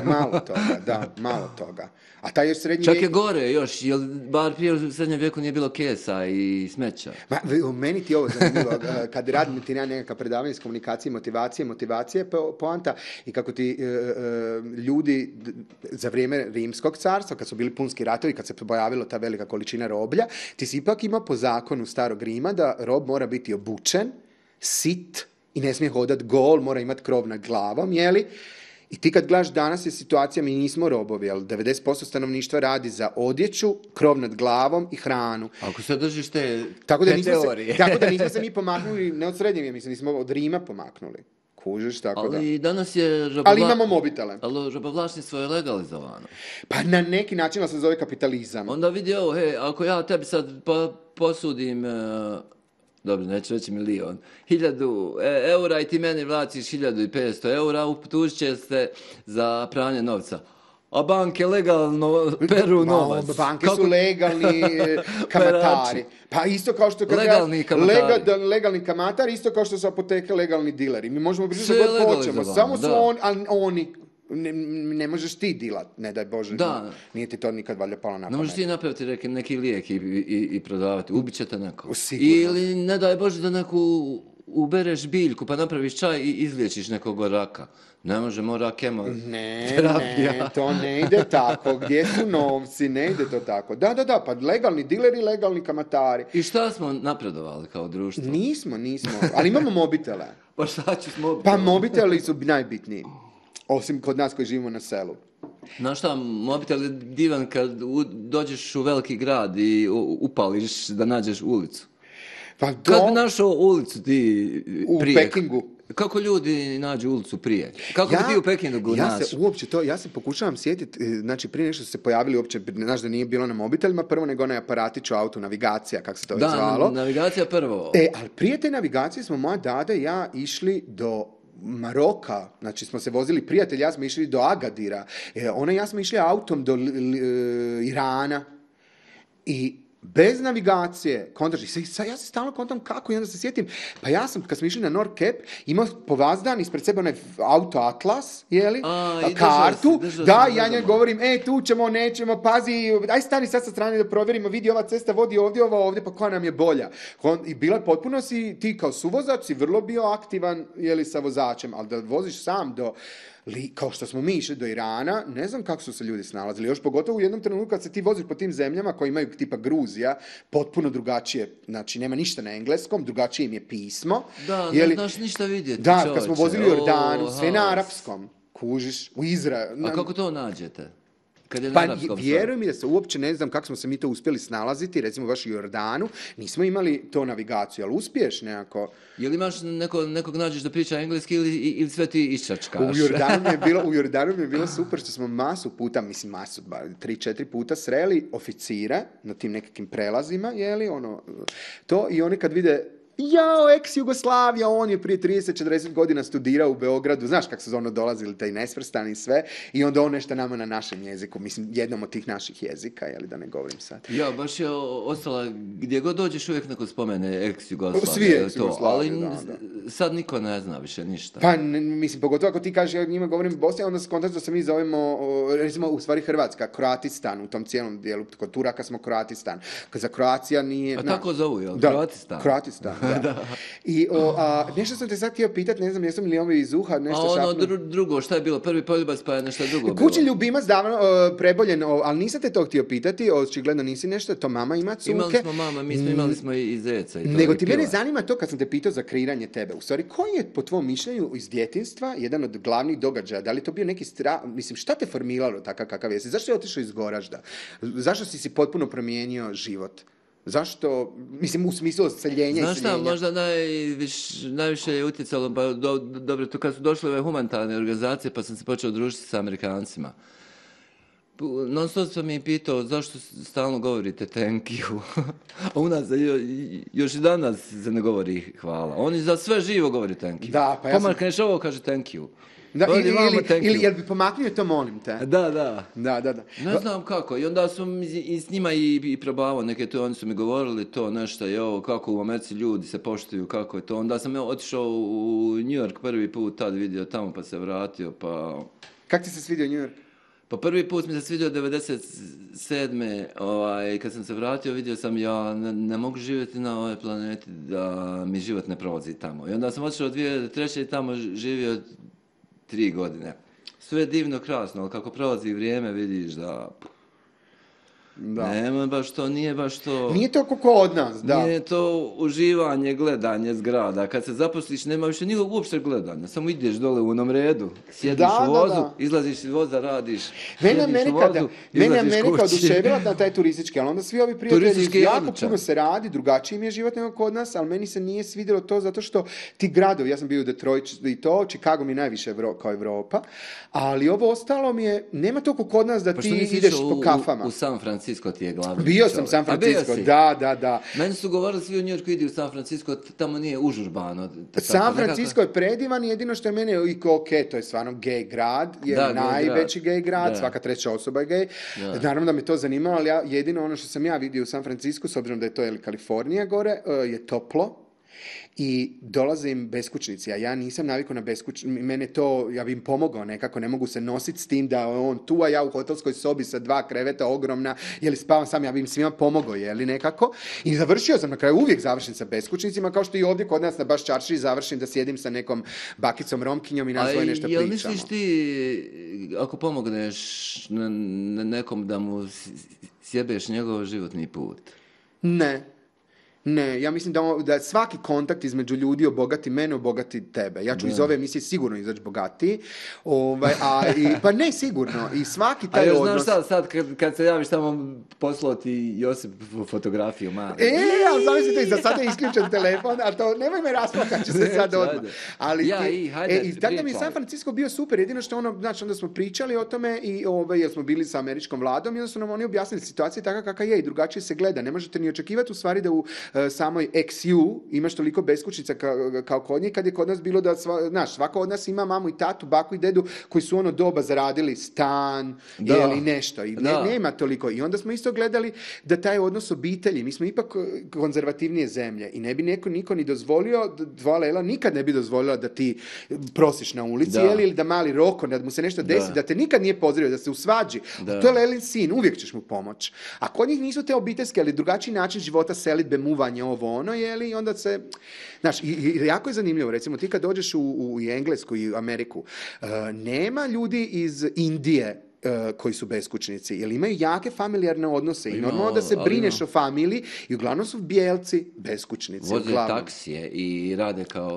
B: malo toga, da, malo toga. A taj još srednji
A: čak
B: vijek...
A: je gore još, jer bar prije u srednjem vijeku nije bilo kesa i smeća.
B: Ma, meni ti ovo zanimljivo, kad radim ti nekakva predavanja iz komunikacije, motivacije, motivacije po, poanta i kako ti e, e, ljudi za vrijeme Rimskog carstva, kad su bili punski ratovi, kad se pojavila ta velika količina roblja, ti si ipak ima po zakonu starog Rima da rob mora biti obučen, sit, i ne smije hodat gol, mora imati krov nad glavom, jeli? I ti kad gledaš danas je situacija, mi nismo robovi, ali devedeset posto stanovništva radi za odjeću, krov nad glavom i hranu.
A: Ako se držiš te,
B: tako da
A: te teorije.
B: Se, tako da nismo se mi pomaknuli, ne od srednjeg, mislim, nismo od Rima pomaknuli. Kužiš, tako
A: ali
B: da.
A: Ali danas je robovla...
B: Ali imamo mobitele.
A: Ali robovlačništvo je legalizovano.
B: Pa na neki način se zove kapitalizam.
A: Onda vidi ovo, hej, ako ja tebi sad po, posudim... Uh, dobro, neću reći milion, hiljadu eura i ti meni vraciš hiljadu i petsto eura, utužit će se za pranje novca. A banke legalno peru novac.
B: Ma, banke kako... su legalni kamatari. Pa isto kao što...
A: Legalni kamatari.
B: Lega, legalni kamatari, isto kao što su apoteke legalni dileri. Mi možemo pričati što god hoćemo. Samo su on, ali oni... Ne, ne možeš ti dilat, ne daj Bože,
A: da.
B: Nije ti to nikad valjda palo na pamet.
A: Ne možeš ti napraviti neki, neki lijek i, i, i prodavati, ubit će te neko.
B: Sigurno.
A: Ili ne daj Bože da neku ubereš biljku pa napraviš čaj i izliječiš nekog raka. Ne može, mora kemo
B: ne,
A: terapija.
B: Ne, to ne ide tako. Gdje su novci? Ne ide to tako. Da, da, da, pa legalni dileri, legalni kamatari.
A: I šta smo napredovali kao društvo?
B: Nismo, nismo, ali imamo mobitele.
A: Pa šta ću s mobitelom?
B: Pa mobiteli su najbitniji. Osim kod nas koji živimo na selu.
A: Znaš šta, mobitel je divan kad u, dođeš u veliki grad i upališ da nađeš ulicu.
B: Pa do...
A: Kad bi našao ulicu ti prije...
B: U Pekingu.
A: Kako ljudi nađu ulicu prije? Kako ja, bi ti u Pekingu
B: ja
A: naš?
B: Se uopće to, ja se pokušavam sjetiti, znači prije nešto su se pojavili uopće, znaš da nije bilo na mobitelima, prvo nego onaj aparatić u autu, navigacija, kako se to
A: da,
B: je zvalo.
A: Da, navigacija prvo.
B: E, ali prije te navigacije smo moja dada i ja išli do Maroka, znači smo se vozili, prijatelj, ja smo išli do Agadira, e, ona i ja smo išli autom do l, l, l, Irana i Bez navigacije, kontaš, i sad ja se stalno kontam kako i onda se sjetim, pa ja sam, kad smo išli na Nordcap, imao povazdan ispred sebe onaj auto Atlas, jeli,
A: A, i
B: kartu,
A: držao si, držao
B: da,
A: si
B: ja njoj
A: nogama.
B: govorim, e, tu ćemo, nećemo, pazi, aj stani sad sa strane da provjerimo, vidi ova cesta vodi ovdje, ova ovdje, pa koja nam je bolja. Kon- I bila je potpuno si, ti kao suvozač si vrlo bio aktivan, jeli, sa vozačem, ali da voziš sam do, li, kao što smo mi išli do Irana, ne znam kako su se ljudi snalazili, još pogotovo u jednom trenutku kad se ti voziš po tim zemljama koji imaju tipa Gruzija, potpuno drugačije, znači nema ništa na engleskom, drugačije im je pismo.
A: Da,
B: Je
A: ne
B: li-
A: znaš ništa vidjeti,
B: Da,
A: čovječe.
B: kad smo vozili u Jordanu,
A: O,
B: sve na
A: haos.
B: arapskom, kužiš, u Izraelu.
A: A kako to nađete? Kad je na
B: Pa
A: arapskom
B: vjeruj mi da se uopće ne znam kako smo se mi to uspjeli snalaziti, recimo baš u Jordanu, nismo imali to navigaciju, ali uspiješ nekako.
A: Jel imaš neko, nekog nađeš da priča engleski ili, ili sve ti iščačkaš?
B: U Jordanu mi je bilo, u Jordanu mi je bilo super što smo masu puta, mislim masu, bar tri, četiri puta sreli oficire na tim nekakvim prelazima, jeli, ono, to, i oni kad vide, jao, ex-Jugoslavija, on je prije trideset četrdeset godina studirao u Beogradu, znaš kako su ono dolazili, taj nesvrstani i sve, i onda on nešto nama na našem jeziku, mislim, jednom od tih naših jezika, jeli, da ne govorim sad.
A: Ja, baš je o- ostala, gdje god dođeš uvijek neko spomene ex-Jugoslavija.
B: Svi
A: je to,
B: ex-Jugoslavije,
A: ali
B: da,
A: n- sad niko ne zna više ništa.
B: Pa, ne, mislim, pogotovo ako ti kažeš, ja njima govorim Bosni, onda se kontač da se mi zovemo, o, recimo, u stvari Hrvatska, Kroatistan, u tom cijelom dijelu, kod Turaka smo Kroatistan. Za Kroacija nije...
A: A
B: na-
A: tako zovu, jel?
B: Da,
A: Kroatistan?
B: Kroatistan, da. I o, a, nešto sam te sad htio pitat, ne znam, jesam li ovi iz uha,
A: A
B: nešto
A: ono
B: šapnuo.
A: dru- drugo, šta je bilo? Prvi poljubac pa je nešto drugo
B: Kućni
A: bilo.
B: ljubimac davno o, preboljen, o, ali nisam te to htio pitati, očigledno nisi nešto, to mama ima cuke.
A: Imali smo mama, mi smo imali smo i, i zeca. I to,
B: Nego
A: i
B: ti mene
A: pila.
B: zanima to kad sam te pitao za kreiranje tebe. U stvari, koji je po tvom mišljenju iz djetinjstva jedan od glavnih događaja? Da li je to bio neki strah? Mislim, šta te formiralo takav kakav jesi? Zašto je otišao iz Goražda? Zašto si si potpuno promijenio život? Zašto, mislim, u smislu odseljenja
A: Znaš
B: i
A: šta,
B: seljenja?
A: možda najviš, najviše je utjecalo, pa do, dobro, to kad su došle ove humanitarne organizacije, pa sam se počeo družiti sa Amerikancima. Pu- Non stop sam mi pitao zašto stalno govorite thank you. A u nas jo- još i danas se ne govori hvala. Oni za sve živo govori thank you.
B: Da, pa ja sam-
A: Pomakneš ovo, kaže thank you.
B: Da,
A: Odi
B: ili,
A: vamo,
B: ili,
A: thank
B: ili
A: you.
B: jel bi pomaknio to, molim te?
A: Da, da.
B: Da, da, da.
A: Ne znam kako. I onda sam i, i s njima i, i probavao neke to, oni su mi govorili to nešto, je ovo, kako u Americi ljudi se poštuju, kako je to. Onda sam ja otišao u New York prvi put, tad vidio tamo, pa se vratio, pa...
B: Kak ti se svidio New York?
A: Pa prvi put mi se svidio devedeset sedme. Ovaj, kad sam se vratio vidio sam ja ne, ne mogu živjeti na ovoj planeti da mi život ne prolazi tamo. I onda sam otišao dvije tisuće treće i tamo živio tri godine. Sve je divno, krasno, ali kako prolazi vrijeme vidiš da...
B: Da.
A: Nema baš to, nije baš to...
B: Nije to kako od nas, da.
A: Nije to uživanje, gledanje zgrada. Kad se zaposliš, nema više nikog uopšte gledanja. Samo ideš dole u onom redu, sjediš
B: Da,
A: u
B: da,
A: vozu,
B: da.
A: izlaziš iz voza, radiš,
B: Mene
A: sjediš u
B: Amerika,
A: vozu,
B: da, mene
A: izlaziš
B: Amerika
A: kući.
B: oduševila na taj turistički, ali onda svi ovi prijatelji,
A: Turistički je
B: jako
A: odličan.
B: puno se radi, drugačiji mi je život nego kod nas, ali meni se nije svidjelo to zato što ti gradovi, ja sam bio u Detroit i to, Chicago mi je najviše Evro, kao Evropa, ali ovo ostalo mi je, nema toliko kod nas da
A: Pa
B: ti
A: što nisi
B: ideš
A: išao
B: po
A: u-
B: kafama.
A: U, u San Francisco ti je glavni
B: Bio sam
A: čovjek.
B: San
A: A bio
B: Francisco,
A: si?
B: da, da, da.
A: Meni su govorili svi u New Yorku idi u San Francisco, t- tamo nije užurbano. T-
B: San
A: tako,
B: Francisco je predivan, jedino što je mene i ko, ok, to je stvarno gej grad, je
A: Da, gay
B: najveći
A: grad.
B: gej grad,
A: Da.
B: svaka treća osoba je gej.
A: Da.
B: Naravno da me to zanimalo, ali ja, jedino ono što sam ja vidio u San Francisco, s obzirom da je to je Kalifornija gore, eh, je toplo. I dolazim beskućnici, a ja nisam navikao na beskućnici, mene to, ja bi im pomogao nekako, ne mogu se nositi s tim da je on tu, a ja u hotelskoj sobi sa dva kreveta ogromna, jeli spavam sam, ja bi im svima pomogao, jeli nekako. I završio sam, na kraju uvijek završim sa beskućnicima, kao što i ovdje kod nas na baš čaršiji završim da sjedim sa nekom bakicom Romkinjom i nas svoje nešto
A: jel
B: pričamo.
A: misliš ti, ako pomogneš n- n- nekom da mu s- sjebeš njegov životni put?
B: Ne. Ne, ja mislim da, on- da svaki kontakt između ljudi obogati mene, obogati tebe. Ja ću iz ove emisije sigurno izaći bogatiji. Ovaj, a, i, pa ne, sigurno. I svaki
A: A
B: taj
A: još
B: odnos...
A: znaš sad, sad kad, kad se javiš tamo poslao ti Josip f- fotografiju, ma.
B: E, ali zamislite, za sada je isključen telefon, a to, nemoj me rasplakat ću se
A: Neću,
B: sad odmah.
A: ajde.
B: Ali
A: Ja,
B: ti-
A: i, hajde,
B: e, i tako da mi je
A: pričaj.
B: San Francisco bio super, jedino što ono, znači onda smo pričali o tome i ovaj, jer smo bili sa američkom vladom i onda su nam oni objasnili situaciju takva kakva je i drugačije se gleda. Ne možete ni očekivati u stvari da u uh, samoj eks ju imaš toliko beskućnica kao, kao kod njih, kad je kod nas bilo da, sva, znaš, svako od nas ima mamu i tatu, baku i dedu koji su ono doba zaradili stan
A: Da.
B: ili nešto. I ne,
A: Da.
B: nema toliko. I onda smo isto gledali da taj odnos obitelji, mi smo ipak konzervativnije zemlje i ne bi neko, niko ni dozvolio, dva Lela nikad ne bi dozvolila da ti prosiš na ulici,
A: Da.
B: jeli, ili da mali Roko, da mu se nešto desi, da,
A: Da.
B: te nikad nije pozdravio, da se usvađi.
A: Da.
B: To je Lelin sin, uvijek ćeš mu pomoć. A kod njih nisu te obiteljske, ali drugačiji način života, selidbe, muvanje, ovo ono, jeli, i onda se, znaš, i, i jako je zanimljivo, recimo, ti kad dođeš u, u Englesku i Ameriku, uh, nema ljudi iz Indije uh, koji su beskućnici, jer imaju jake familijarne odnose i
A: Ima,
B: normalno da se
A: ali
B: brineš
A: ima.
B: o familiji i uglavnom su bijelci beskućnici.
A: Voze
B: uglavnom.
A: taksije i rade kao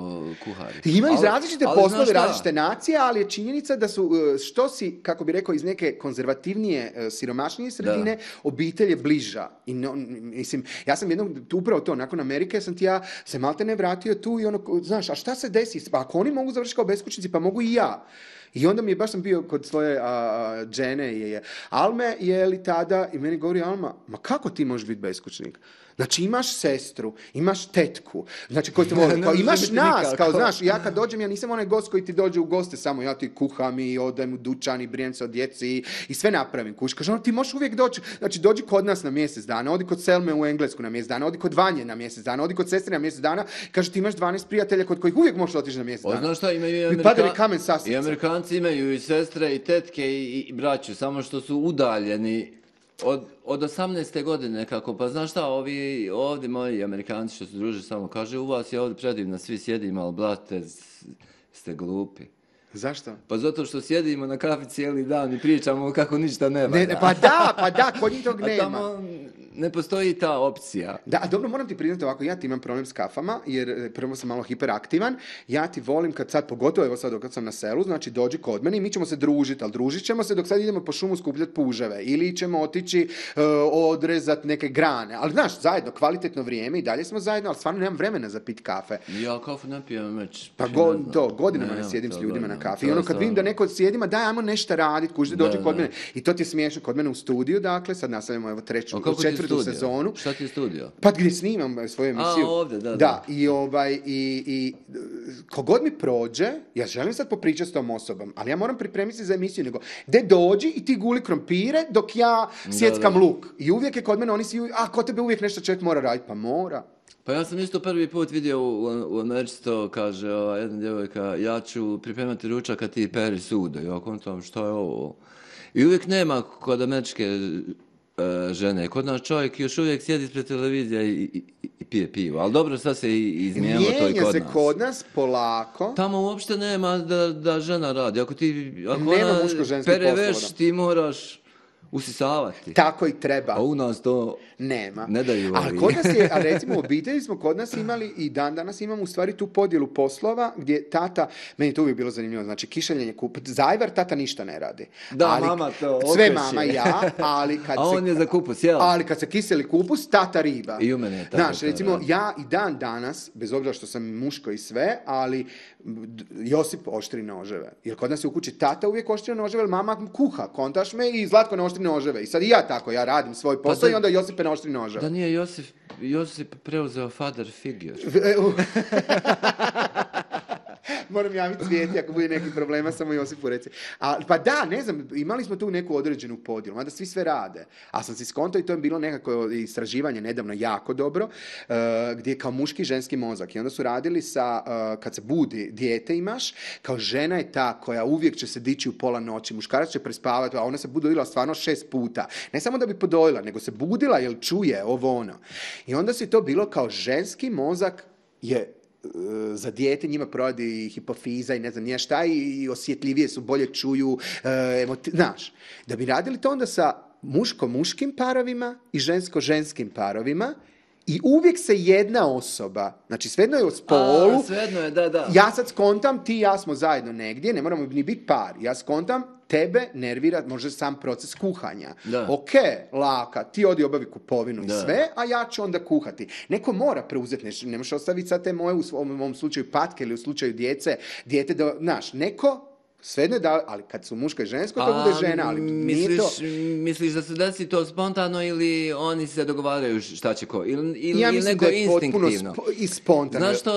A: kuhari.
B: I imaju
A: Ali-
B: različite
A: ali
B: poslove,
A: znaš šta?
B: različite nacije, ali je činjenica da su, uh, što si, kako bi rekao, iz neke konzervativnije, uh, siromašnije sredine, obitelj je bliža. I no, mislim, ja sam jednom, tu upravo to, nakon Amerike sam ti ja se malte ne vratio tu i ono, znaš, a šta se desi? Pa ako oni mogu završiti kao beskućnici, pa mogu i ja. I onda mi je, baš sam bio kod svoje a, a, džene, je, je, Alme je li tada, i meni govori Alma, ma kako ti možeš biti beskućnik? Znači imaš sestru, imaš tetku, znači koji te voli,
A: Ne
B: kao,
A: može
B: imaš
A: biti
B: nas,
A: nikako.
B: kao znaš, ja kad dođem, ja nisam onaj gost koji ti dođe u goste, samo ja ti kuham i odajem u dućan i brinem se o djeci i, i sve napravim. Kuš, kaže, ono, ti možeš uvijek doći, znači dođi kod nas na mjesec dana, odi kod Selme u Englesku na mjesec dana, odi kod Vanje na mjesec dana, odi kod sestre na mjesec dana, kaže ti imaš dvanaest prijatelja kod kojih uvijek možeš otići na mjesec
A: O,
B: dana.
A: znaš šta, imaju i,
B: Mi padali
A: Amerika-
B: kamen sa srca.
A: i Amerikanci imaju i sestre i tetke i, i braću, samo što su udaljeni od, od osamnaeste godine kako, pa znaš šta, ovi ovdje moji Amerikanci što se druže samo kaže, u vas je ovdje predivno, svi sjedimo, ali blate, s- ste glupi.
B: Zašto?
A: Pa zato što sjedimo na kafi cijeli dan i pričamo kako ništa ne valja.
B: Ne, ne, pa da, pa da, kod njih tog
A: A
B: nema.
A: tamo ne postoji ta opcija.
B: Da, a dobro, moram ti priznati ovako, ja ti imam problem s kafama, jer e, prvo sam malo hiperaktivan, ja ti volim kad sad, pogotovo evo sad dok sam na selu, znači dođi kod mene i mi ćemo se družiti, ali družit ćemo se dok sad idemo po šumu skupljati puževe, ili ćemo otići e, odrezat neke grane, ali znaš, zajedno, kvalitetno vrijeme i dalje smo zajedno, ali stvarno nemam vremena za pit kafe.
A: Ja kafu ne pijem već.
B: Pa
A: ne
B: go,
A: znam.
B: to, godinama ne
A: Nemam
B: sjedim s
A: to
B: ljudima na
A: godinama.
B: kafi.
A: To
B: I ono
A: je
B: kad vidim da
A: stvarno-
B: neko sjedima, daj, ajmo nešto raditi, kuži, dođi
A: Da,
B: kod
A: da.
B: mene. I to ti je smiješno kod mene u studiju, dakle, sad nastavljamo evo treću,
A: A kako ti je
B: četvrtu
A: studio?
B: sezonu.
A: Šta ti je studio?
B: Pa gdje snimam svoju emisiju.
A: A, ovdje, da,
B: Da,
A: da.
B: i ovaj, i, i kogod mi prođe, ja želim sad popričati s tom osobom, ali ja moram pripremiti se za emisiju, nego, de dođi i ti guli krompire dok ja sjeckam
A: da.
B: luk. I uvijek je kod mene, oni si, a kod tebe uvijek nešto čovjek mora raditi, pa mora.
A: Pa ja sam isto prvi put vidio u, u Americi to, kaže ova jedna djevojka, ja ću pripremati ručak, a ti peri sudo. Ja kontam, šta je ovo? I uvijek nema kod američke e, žene. Kod nas čovjek još uvijek sjedi ispred televizije i, i, i pije pivo. Ali dobro, sad se i izmijenilo to i
B: Mijenja
A: kod
B: se
A: nas.
B: kod nas polako.
A: Tamo uopšte nema da, da žena radi. Ako ti ako
B: Nema
A: ona
B: muško-ženskih
A: pere
B: poslova,
A: veš,
B: da.
A: ti moraš usisavati.
B: Tako i treba.
A: A u nas to
B: Nema.
A: ne daju
B: Ali
A: ovi.
B: kod nas je, a recimo u obitelji smo kod nas imali i dan danas imamo u stvari tu podjelu poslova gdje tata, meni je to uvijek bilo zanimljivo, znači kišeljenje kup, zajvar tata ništa ne radi.
A: Da,
B: Ali-
A: mama to
B: Sve
A: okreće.
B: mama i ja, ali kad
A: A
B: se...
A: on je za kupus, jel?
B: Ali kad se kiseli kupus, tata riba.
A: I u mene je tako
B: Znaš,
A: to
B: recimo,
A: radi.
B: ja i dan danas, bez obzira što sam muško i sve, ali d- Josip oštri noževe. Jer kod nas je u kući tata uvijek oštri noževe, jer mama kuha, kontaš me i Zlatko ne oštri noževe. I sad i ja tako, ja radim svoj posao
A: da-
B: i onda Josipe ne oštri noževe.
A: Da nije Josip, Josip preuzeo father figure.
B: E, u- Moram javiti Cvijeti ako bude neki problema, samo Josipu reci. A, pa da, ne znam, imali smo tu neku određenu podjelu, mada svi sve rade. A sam si skontao i to je bilo nekako istraživanje nedavno jako dobro, uh, gdje je kao muški i ženski mozak. I onda su radili sa, uh, kad se budi, dijete imaš, kao žena je ta koja uvijek će se dići u pola noći, muškarac će prespavati, a ona se budila stvarno šest puta. Ne samo da bi podojila, nego se budila jer čuje ovo ono. I onda si to bilo kao ženski mozak je za dijete njima provodi hipofiza i ne znam nije šta i osjetljivije su, bolje čuju, e, emoti- znaš. Da bi radili to onda sa muško-muškim parovima i žensko-ženskim parovima i uvijek se jedna osoba, znači svejedno je o spolu,
A: A, svejedno je, da, da.
B: ja sad skontam, ti i ja smo zajedno negdje, ne moramo ni biti par, ja skontam, tebe nervira možda sam proces kuhanja.
A: Da.
B: Ok, laka, ti odi obavi kupovinu i
A: Da.
B: sve, a ja ću onda kuhati. Neko mora preuzeti nešto, ne možeš ostaviti sad te moje, u svom- u ovom slučaju patke ili u slučaju djece, dijete da, znaš, neko Svejedno je da, ali kad su muško i žensko, to bude žena, ali nije
A: misliš,
B: to...
A: Misliš da se desi to spontano ili oni se dogovaraju šta će ko? Ili, ili,
B: Ja
A: ili
B: mislim
A: neko
B: da je potpuno
A: instinktivno?
B: spo- i spontano.
A: Znaš što,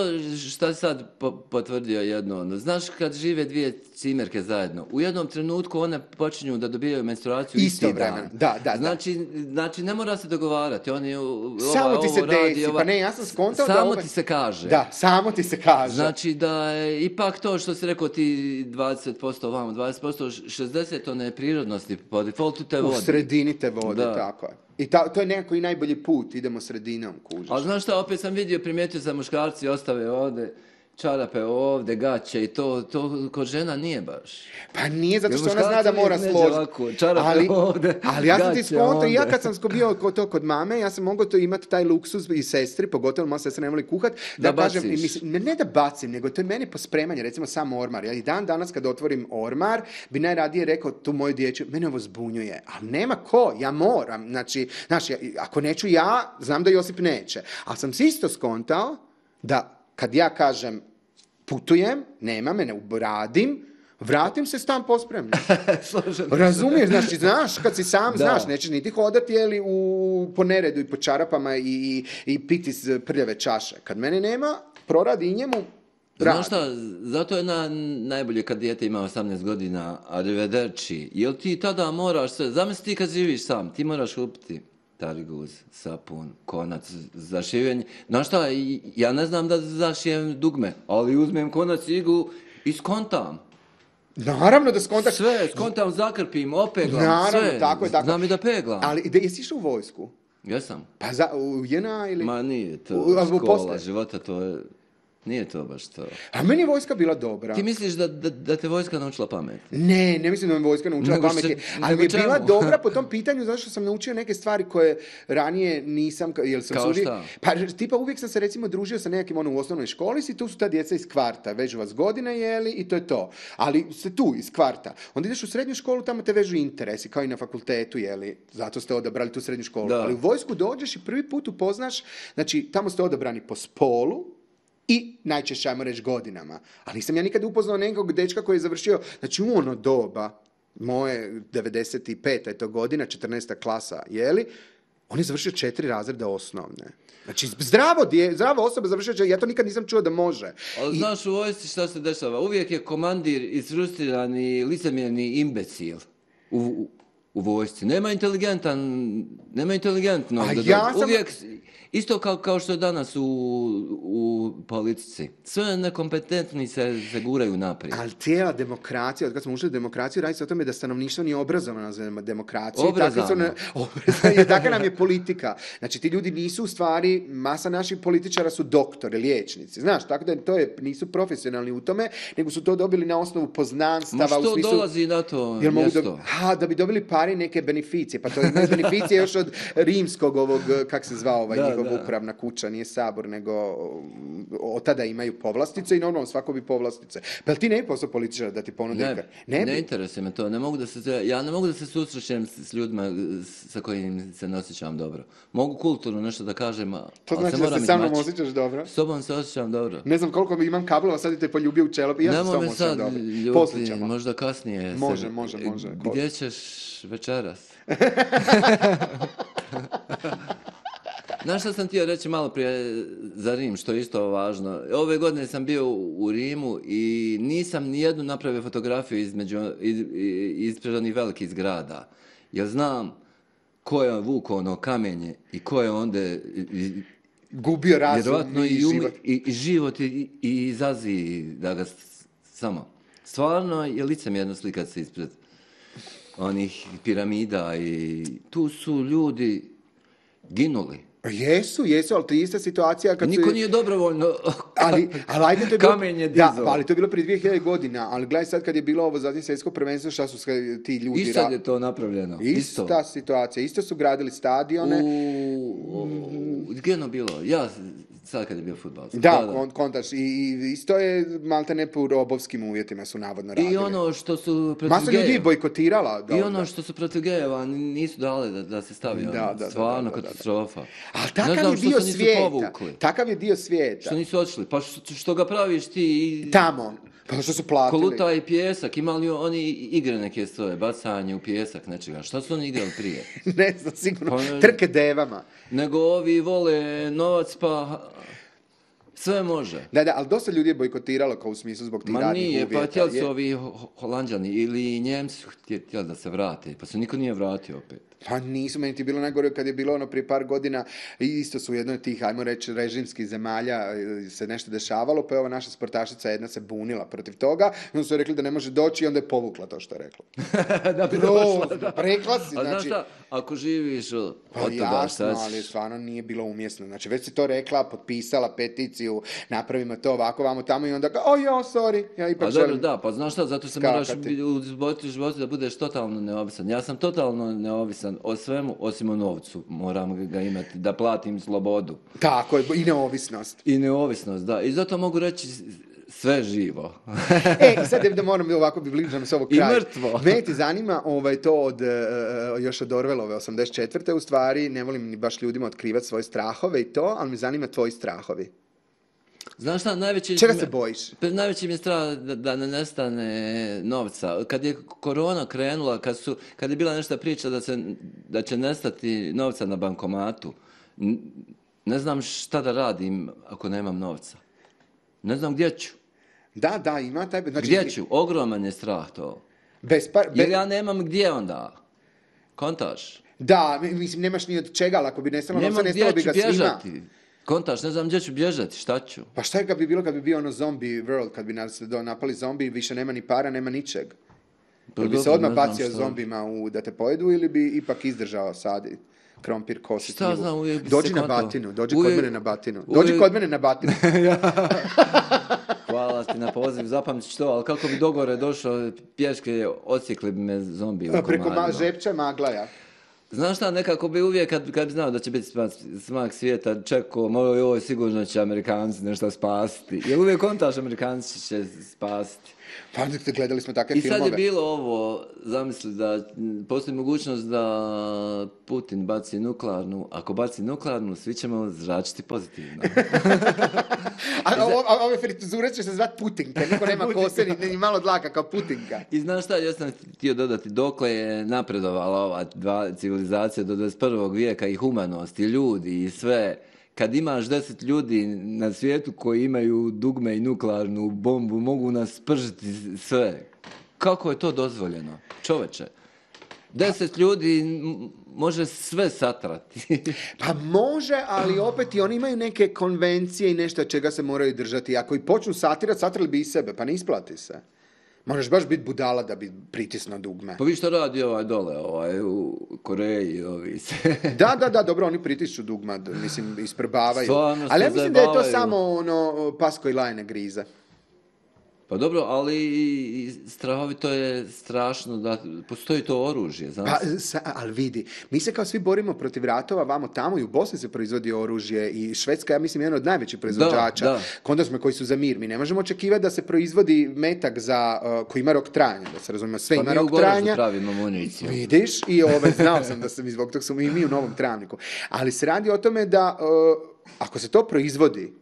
A: šta si sad po- potvrdio jedno? ono? Znaš kad žive dvije cimerke zajedno, u jednom trenutku one počinju da dobijaju menstruaciju isti
B: Istovremeno,
A: dan.
B: da, da, da.
A: Znači, znači, ne mora se dogovarati. Oni, ova,
B: Samo ti se
A: ovo radi,
B: desi,
A: ova-
B: pa ne, ja sam skontao da
A: Samo
B: ovaj-
A: ti se kaže.
B: Da, samo ti se kaže.
A: Znači da je ipak to što si rekao ti dvadeset posto ovamo, dvadeset posto šezdeset to ne prirodnosti, po defaultu te
B: U
A: vodi.
B: sredini te vode,
A: Da.
B: tako je. I ta, to je nekako i najbolji put, idemo sredinom, kužiš.
A: Ali znaš šta, opet sam vidio, primijetio sam muškarci ostave ovdje, čarape ovdje, gaće i to, to kod žena nije baš.
B: Pa nije, zato
A: Jer
B: što ona zna da
A: muškarci
B: mora
A: uvijek neđe
B: složiti.
A: ovako, čarape
B: Ali,
A: ovdje,
B: ali ja sam ti
A: gaće
B: skontao, i ja
A: ovdje.
B: kad sam sko- bio kod to kod mame, ja sam mogao to imati taj luksuz i sestri, pogotovo moja sestra ne voli kuhat, da,
A: Da
B: kažem, i
A: baciš.
B: mislim, ne, ne da bacim, nego to je meni pospremanje, recimo sam ormar. Ja i dan danas kad otvorim ormar, bi najradije rekao tu moju dječju, mene ovo zbunjuje, ali nema ko, ja moram, znači, znaš, ja, ako neću ja, znam da Josip neće, ali sam si isto skontao da kad ja kažem putujem, nema me, ne radim, vratim se stan pospremljen.
A: Složeno.
B: Razumiješ, znači, znaš, kad si sam,
A: Da.
B: znaš, nećeš niti hodati, jeli, u, po neredu i po čarapama i, i, i piti iz prljave čaše. Kad mene nema, proradi i njemu, radi.
A: Znaš šta, zato je na, najbolje kad dijete ima osamnaest godina, arrivederci, jel ti tada moraš sve, zamisli ti kad živiš sam, ti moraš kupiti tariguz, sapun, konac za šivenje. Znaš šta, i- ja ne znam da zašijem dugme, ali uzmem konac, iglu i skontam.
B: Naravno da skontaš.
A: Sve, skontam, zakrpim, opeglam,
B: Naravno,
A: sve.
B: tako je, tako.
A: Znam i da peglam.
B: Ali, da, jesi išao u vojsku?
A: Jesam.
B: Pa za, u J N A ili...
A: Ma nije to
B: U- a u
A: škola
B: poslije?
A: života, to je, nije to baš to.
B: A meni je vojska bila dobra.
A: Ti misliš da, da, da te vojska naučila pamet?
B: Ne, ne mislim da me vojska naučila
A: Nego
B: pameti,
A: što-
B: ali
A: nego
B: mi je bila
A: čemu?
B: dobra po tom pitanju zato što sam naučio neke stvari koje ranije nisam, ka- jel sam
A: Kao
B: se uvijek,
A: šta?
B: pa tipa uvijek sam se recimo družio sa nekim ono u osnovnoj školi i tu su ta djeca iz kvarta, vežu vas godine jeli i to je to, ali se tu iz kvarta. Onda ideš u srednju školu, tamo te vežu interesi, kao i na fakultetu, jeli, zato ste odabrali tu srednju školu.
A: Da.
B: Ali u vojsku dođeš i prvi put upoznaš, znači tamo ste odabrani po spolu, i najčešće, ajmo reći, godinama. Ali nisam ja nikad upoznao nekog dečka koji je završio, znači u ono doba, moje devedeset peta je to godina, četrnaesta klasa, jeli, on je završio četiri razreda osnovne. Znači, zdravo, dje, zdrava osoba završio će, ja to nikad nisam čuo da može.
A: Ali
B: I-
A: znaš u vojsci šta se dešava? Uvijek je komandir isfrustrirani, licemjerni imbecil u, u, u vojsci. Nema inteligentan, nema inteligentno.
B: A
A: da
B: ja
A: dođe.
B: sam-
A: Uvijek, isto kao, kao što je danas u, u politici. Sve nekompetentni se, se guraju naprijed.
B: Ali cijela demokracija, od kad smo ušli u demokraciju, radi se o tome da stanovništvo nije obrazovano za demokraciju.
A: Obrazano.
B: Takvi su ne- obrazano. Takva nam je politika. Znači, ti ljudi nisu u stvari, masa naših političara su doktori, liječnici. Znaš, tako da to je, nisu profesionalni u tome, nego su to dobili na osnovu poznanstava.
A: Ma
B: u
A: što
B: smislu,
A: dolazi na to
B: Jel mogu
A: mjesto?
B: da, ha, da bi dobili pare i neke beneficije. Pa to je beneficije još od rimskog ovog, kak se zvao ovaj
A: Da,
B: njihov
A: da.
B: upravna kuća, nije sabor, nego od tada imaju povlastice i normalno svako bi povlastice. Pa jel ti ne bi postao političar da ti ponude?
A: Ne,
B: Ne,
A: ne,
B: bi?
A: interesuje me to. Ne mogu da se, ja ne mogu da se susrećem s, s ljudima s- sa kojim se ne osjećam dobro. Mogu kulturno nešto da kažem, a-
B: To
A: ali
B: znači
A: se
B: da
A: moram
B: se sa mnom
A: izmaći.
B: osjećaš dobro?
A: S tobom se osjećam dobro.
B: Ne znam koliko imam kablova, sad te poljubio u čelo. I ja se s
A: Nemoj
B: tobom
A: me
B: osjećam
A: sad
B: dobro.
A: ljuti,
B: Poslije ćemo.
A: možda kasnije. se-
B: Može, može, može.
A: Gdje ćeš večeras? Znaš što sam htio reći malo prije za Rim, što je isto važno. Ove godine sam bio u Rimu i nisam nijednu napravio fotografiju između, iz, ispred onih velikih zgrada. Jer znam ko je vukao ono kamenje i ko je onda i- i-
B: Gubio razum
A: vjerovatno
B: i
A: i, um-
B: život.
A: i, i život i, i izazi da ga s- samo. Stvarno je licemjerno slikat se ispred onih piramida i tu su ljudi ginuli.
B: Jesu, jesu, ali to je ista situacija kad
A: Niko
B: su...
A: nije dobrovoljno
B: Ali, ali ajde, to je bilo...
A: kamen je
B: Da,
A: dizao.
B: ali to je bilo prije dvije hiljade godina, ali gledaj sad kad je bilo ovo zadnje svjetsko prvenstvo, šta su sve ti ljudi...
A: I sad
B: ra-
A: je to napravljeno.
B: Ista
A: Isto.
B: situacija, isto su gradili stadione.
A: U, u, gdje je ono bilo? Ja, sad kad je bio fudbal.
B: Da, kon- kontaš. I, I isto je malte ne po robovskim uvjetima su navodno radili.
A: I ono što su protiv
B: Masa ljudi je
A: gejeva.
B: bojkotirala. Da,
A: I ono
B: da.
A: što su protiv gejeva nisu dali da, da se stavi.
B: Da,
A: ono.
B: da, da,
A: Stvarno
B: da, da, da.
A: katastrofa.
B: Ali
A: Ne
B: takav
A: znam
B: je
A: što
B: dio
A: se nisu
B: svijeta.
A: povukli.
B: Takav je dio svijeta.
A: Što nisu odšli. Pa što, što ga praviš ti i...
B: Tamo. Pa što su platili?
A: Koluta i pjesak, imali oni igre neke svoje, bacanje u pjesak, nečega. Šta su oni igrali prije?
B: Ne znam, sigurno.
A: Pa,
B: Trke devama.
A: Nego ovi vole novac, pa sve može.
B: Da, da, ali dosta ljudi je bojkotiralo kao u smislu zbog tih
A: Ma
B: radnih
A: nije,
B: uvjeta.
A: pa htjeli su
B: Je-
A: ovi Ho- Holanđani ili Njemci su htjeli htjeli da se vrate, pa se niko nije vratio opet.
B: Pa nisu, meni ti bilo najgore kad je bilo ono prije par godina, i isto su u jednoj od tih, ajmo reći, režimskih zemalja e, se nešto dešavalo, pa je ova naša sportašica jedna se bunila protiv toga, i onda su joj rekli da ne može doći i onda je povukla to što je rekla.
A: Da bi
B: Grozno, rekla si,
A: A znaš
B: znači...
A: šta, ako živiš od
B: Pa
A: toga,
B: jasno,
A: šta ćeš?
B: ali stvarno nije bilo umjesno. Znači, već si to rekla, potpisala peticiju, napravimo to ovako, vamo tamo i onda kao, o jo, sorry, ja ipak
A: Pa dobro,
B: želim.
A: da, pa znaš šta, zato se
B: skakati.
A: moraš biti u životu, životu da budeš totalno neovisan. Ja sam totalno neovisan o svemu, osim o novcu. Moram ga imati, da platim slobodu.
B: Tako je, i neovisnost.
A: I neovisnost, da. I zato mogu reći sve živo.
B: E, i sad da moram ovako bi bližam s ovog
A: I
B: kraja.
A: mrtvo.
B: Mene ti zanima ovaj, to od, e, e, još od Orwellove osamdeset četvrte u stvari, ne volim ni baš ljudima otkrivati svoje strahove i to, ali me zanima tvoji strahovi.
A: Znaš šta, najveći...
B: Čega se bojiš?
A: Pa najveći mi je strah da, da ne nestane novca. Kad je korona krenula, kad, su, kad je bila nešto priča da, se, da će nestati novca na bankomatu, n- ne znam šta da radim ako nemam novca. Ne znam gdje ću.
B: Da, da, ima taj... Znači,
A: Gdje ću? Ogroman je strah to.
B: Bez par, be-
A: Jer ja nemam gdje onda. Kontaš?
B: Da, mislim, nemaš ni od čega, ali ako bi nestalo novca,
A: Nemam
B: nestalo bi
A: gdje
B: ga
A: ću
B: svima.
A: bježati. Kontaš, ne znam gdje ću bježati, šta ću?
B: Pa šta je kad bi bilo kad bi bio ono zombie world, kad bi nas do- napali zombi, više nema ni para, nema ničeg?
A: Pa
B: Jel bi se
A: dobro,
B: odmah
A: ne znam
B: bacio
A: šta.
B: zombima u, da te pojedu ili bi ipak izdržao sadi krompir, kosi,
A: Šta
B: šljivu?
A: znam, uvijek bi
B: Dođi
A: se
B: na
A: kontao.
B: batinu, dođi
A: Uvijek-
B: kod mene na batinu. Dođi
A: uvijek-
B: kod mene na batinu.
A: Hvala ti na poziv, zapamtit ću to, ali kako bi dogore došao pješke, odsjekli bi me zombi u
B: Preko ma,
A: komadima.
B: žepća maglaja.
A: Znaš šta, nekako bi uvijek, kad, kad bi znao da će biti smak, smak svijeta, čekao, moj, ovo sigurno će Amerikanci nešto spasiti. Jer uvijek kontaš, Amerikanci će spasiti.
B: Pa gledali smo takve
A: I sad
B: filmove.
A: je bilo ovo, zamisli da m, postoji mogućnost da Putin baci nuklearnu, ako baci nuklearnu, svi ćemo zračiti pozitivno.
B: A, a, o- a ove frituzure će se zvat Putinka, niko nema kose ni, ni malo dlaka kao Putinka.
A: I znaš šta, ja sam htio dodati, dokle je napredovala ova dva civilizacija do dvadeset prvog vijeka i humanost i ljudi i sve. Kad imaš deset ljudi na svijetu koji imaju dugme i nuklearnu bombu, mogu nas pržiti sve. Kako je to dozvoljeno? Čoveče, deset ljudi m- može sve satrati.
B: Pa može, ali opet i oni imaju neke konvencije i nešto od čega se moraju držati. Ako i počnu satirati, satrali bi i sebe, pa ne isplati se. Moraš baš biti budala da bi pritisnuo dugme.
A: Pa vi što radi ovaj dole, ovaj u Koreji, ovi se...
B: Da, da, da, dobro, oni pritišću dugma, d- mislim, isprbavaju.
A: Stvarno se
B: Ali ja mislim da je to
A: zajebavaju.
B: samo ono, pas koji lajne grize.
A: Pa dobro, ali i strahovito je strašno da postoji to oružje, znaš?
B: Pa, sa, ali vidi, mi se kao svi borimo protiv ratova, vamo tamo i u Bosni se proizvodi oružje i Švedska, ja mislim, je jedan od najvećih proizvođača.
A: da.
B: Konda smo koji su za mir. Mi ne možemo očekivati da se proizvodi metak za, uh, koji ima rok trajanja, da se razumije, sve
A: Pa
B: ima
A: mi u
B: rok
A: Goraždu
B: trajanja.
A: pravimo municiju.
B: Vidiš, i ovaj, znao sam da sam i zbog tog smo i mi u Novom Travniku. Ali se radi o tome da, uh, ako se to proizvodi,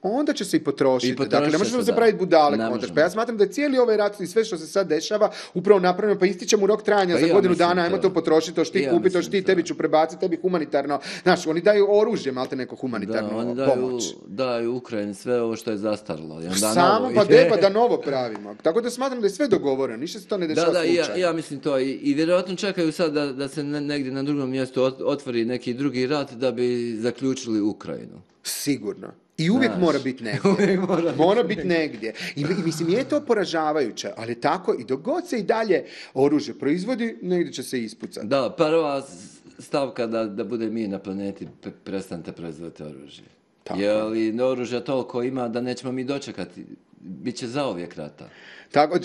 B: onda će se i potrošiti.
A: I potrošit
B: Dakle, ne
A: će
B: možemo
A: se,
B: se
A: da.
B: praviti budale.
A: Ne
B: kontraš.
A: možemo.
B: Pa ja smatram da je cijeli ovaj rat i sve što se sad dešava upravo napravljeno, pa ističe mu rok trajanja
A: Pa
B: za
A: ja
B: godinu
A: mislim
B: dana, ajmo
A: to.
B: to potrošiti, to što
A: I
B: ti
A: ja
B: kupi, to
A: mislim
B: što ti,
A: to.
B: tebi ću prebaciti, tebi humanitarno. Znaš, oni daju oružje, malte neko humanitarnu
A: Da, oni daju,
B: pomoć.
A: daju Ukrajini sve ovo što je zastarilo. I onda
B: Samo
A: novo
B: pa
A: ide.
B: de, pa da novo pravimo. Tako da smatram da je sve dogovoreno, ništa se to ne
A: Da,
B: dešava
A: da, i ja,
B: slučajno.
A: ja mislim to. I, i vjerojatno čekaju sad da, da se ne- negdje na drugom mjestu ot- otvori neki drugi rat da bi zaključili Ukrajinu.
B: Sigurno. I uvijek
A: Znaš.
B: mora biti negdje.
A: Uvijek mora
B: mora
A: biti
B: biti negdje. I, I mislim, je to poražavajuće, ali tako i dok god se i dalje oružje proizvodi, negdje će se ispucati.
A: Da, prva s- stavka da, da bude mi na planeti, pre- prestanite proizvoditi oružje.
B: Tako.
A: Jer li oružja toliko ima da nećemo mi dočekati. Biće zauvijek rata.
B: Tako, e,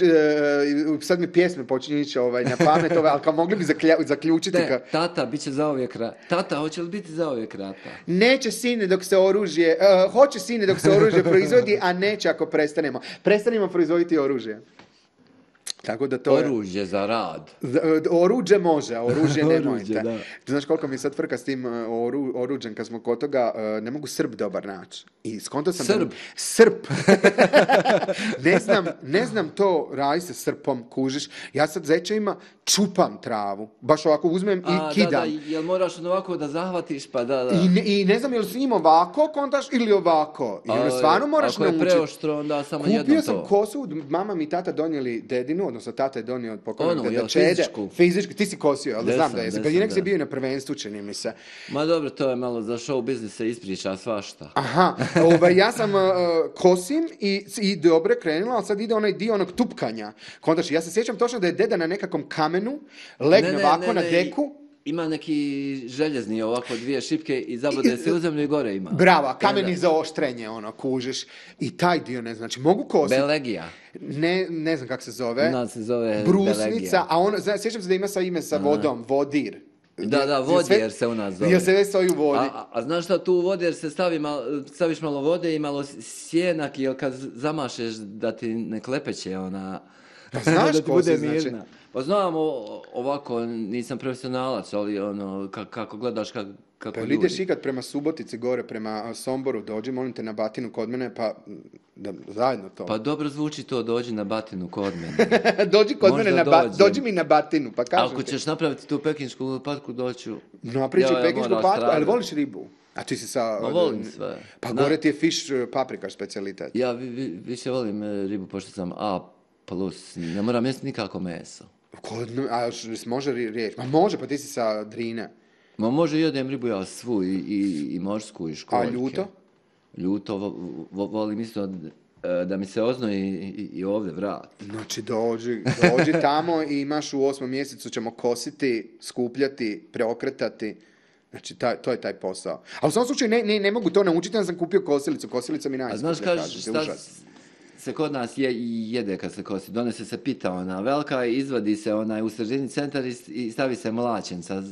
B: sad mi pjesme počinju ići ovaj, na pamet, ovaj, ali kao mogli bi zaklja- zaključiti
A: Ne,
B: ka,
A: tata, bit će zauvijek rata. Tata, hoće li biti zauvijek rata?
B: neće sine dok se oružje, e, hoće sine dok se oružje proizvodi, a neće ako prestanemo. Prestanemo proizvoditi oružje. Tako da to je...
A: Oružje za rad.
B: Oruđe može, a oružje nemojte.
A: Oruđe, da.
B: Ti znaš koliko mi je sad frka s tim oru, oruđem, kad smo kod toga, ne mogu Srb dobar naći. I skonto sam...
A: Srb?
B: Da... Srp. ne, znam, ne znam to radi se srpom, kužiš. Ja sad zečevima čupam travu. Baš ovako uzmem
A: a,
B: i kidam.
A: Da, da, jel moraš ovako da zahvatiš, pa da, da.
B: I ne, i ne znam, jel su im ovako kontaš ili ovako. I onda stvarno moraš naučiti.
A: Ako je preoštro, onda samo
B: Kupio
A: jednom to.
B: sam kosu, mama mi tata donijeli dedinu, odnosno tata je donio od pokojnog
A: ono,
B: deda
A: jel,
B: Čede.
A: fizičku?
B: Fizičku. Ti si kosio, ali znam da je.
A: Desam,
B: Kad je nek se
A: da.
B: bio na prvenstvu, čini mi se.
A: Ma dobro, to je malo za show biznis se ispriča svašta.
B: Aha, ovaj, ja sam uh, kosim i, i dobro je krenula, ali sad ide onaj dio onog tupkanja. Kontaš, ja se sjećam točno da je deda na nekakvom kamenu, legne
A: Ne, ne,
B: ovako
A: ne,
B: na
A: ne,
B: deku.
A: Ima neki željezni ovako dvije šipke i zabode se u zemlju i gore ima.
B: Bravo, kameni
A: Da, da.
B: za oštrenje, ono, kužiš. I taj dio ne znači, mogu kositi.
A: Belegija.
B: Ne, ne znam kako se zove.
A: U nas se zove
B: Brusnica,
A: Belegija.
B: a on, zna, sjećam se da ima sa ime sa vodom, vodir.
A: Da, da, vodjer se u nas zove.
B: Jer se već stoji u vodi.
A: A, a, a znaš šta, tu u vodjer se stavi mal, staviš malo vode i malo sjenak, jer kad zamašeš da ti ne klepeće ona...
B: Pa znaš
A: da ti
B: ko
A: bude
B: si, znači?
A: mirna. Pa znam, o, ovako, nisam profesionalac, ali ono, ka, kako gledaš ka, kako
B: Pa
A: ljudi.
B: ideš ikad prema Subotici gore, prema Somboru, dođi, molim te na Batinu kod mene, pa da, zajedno to.
A: Pa dobro zvuči to, dođi na Batinu kod mene.
B: dođi kod
A: Možda
B: mene na ba,
A: dođem.
B: dođi mi na Batinu, pa kažem
A: Ako
B: ti.
A: ćeš napraviti tu pekinšku patku, doću.
B: No, pričaj
A: Ja, ja
B: pekinsku
A: moram
B: patku, ali
A: stradati.
B: voliš ribu? A ti si sa...
A: Ma volim sve.
B: Pa
A: Na-
B: gore ti je fish uh, paprikaš specijalitet.
A: Ja vi, vi, više volim e, ribu, pošto sam A plus, ne moram jesti nikako meso.
B: Kod, a još može ri- riječ? Ma može, pa ti si sa Drine.
A: Ma može jedem ribu ja svu i, i, i morsku i školjke.
B: A ljuto?
A: Ljuto vo, vo, volim isto e, da mi se oznoji i, i ovdje vrat.
B: Znači dođi, dođi tamo i imaš u osmom mjesecu ćemo kositi, skupljati, preokretati. Znači, taj, to je taj posao. A u svom slučaju ne, ne, ne mogu to naučiti, ja sam kupio kosilicu. Kosilica mi
A: A
B: najskuplja,
A: znaš
B: kažem
A: kažeš
B: ti,
A: šta
B: užas.
A: se kod nas je i jede kad se kosi. Donese se pita ona velika i izvadi se onaj u sredini centar i, i stavi se mlačenca.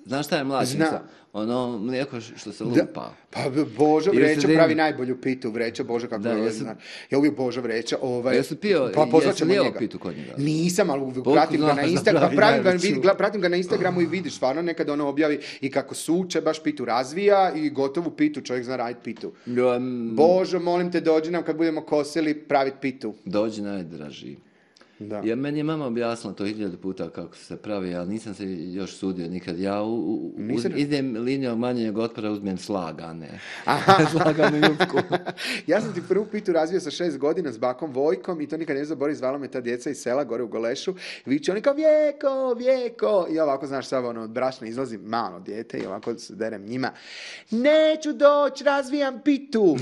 A: Znaš šta je mlačenca?
B: Znam.
A: Ono mlijeko što se
B: Da,
A: lupa.
B: pa Božo
A: I u
B: Vreća
A: sredini.
B: pravi najbolju pitu, Vreća, Bože kako
A: Da,
B: je,
A: jesu-
B: zna. Ja uvijek Božo Vreća, ovaj,
A: Jesu pio-
B: pa pozvat
A: jesi
B: ćemo
A: lijeo
B: njega.
A: pitu kod njega?
B: Nisam, ali uvijek
A: Koliko
B: pratim ga
A: znaš
B: na
A: da
B: Instagramu,
A: pravi
B: pravim ga,
A: najveću?
B: vidi, gla- pratim ga na Instagramu i vidiš stvarno nekad ono objavi i kako suče, baš pitu razvija i gotovu pitu, čovjek zna raditi pitu.
A: Ja, mm,
B: Božo, molim te, dođi nam kad budemo kosili praviti pitu.
A: dođi najdraži.
B: Da.
A: Ja, meni je mama objasnila to hiljadu puta kako se pravi, ali nisam se još sudio nikad. Ja u, u, uz,
B: Nisi-
A: idem linijom manjeg otpora, uzmem slagane.
B: Aha.
A: Slaganu jupku.
B: Ja sam ti prvu pitu razvio sa šest godina s bakom Vojkom i to nikad ne zabori, zvala me ta djeca iz sela gore u Golešu. Viče oni kao Vjeko, Vjeko. I ja ovako, znaš, sad ono, od brašna izlazi malo dijete i ovako se derem njima. Neću doći, razvijam pitu.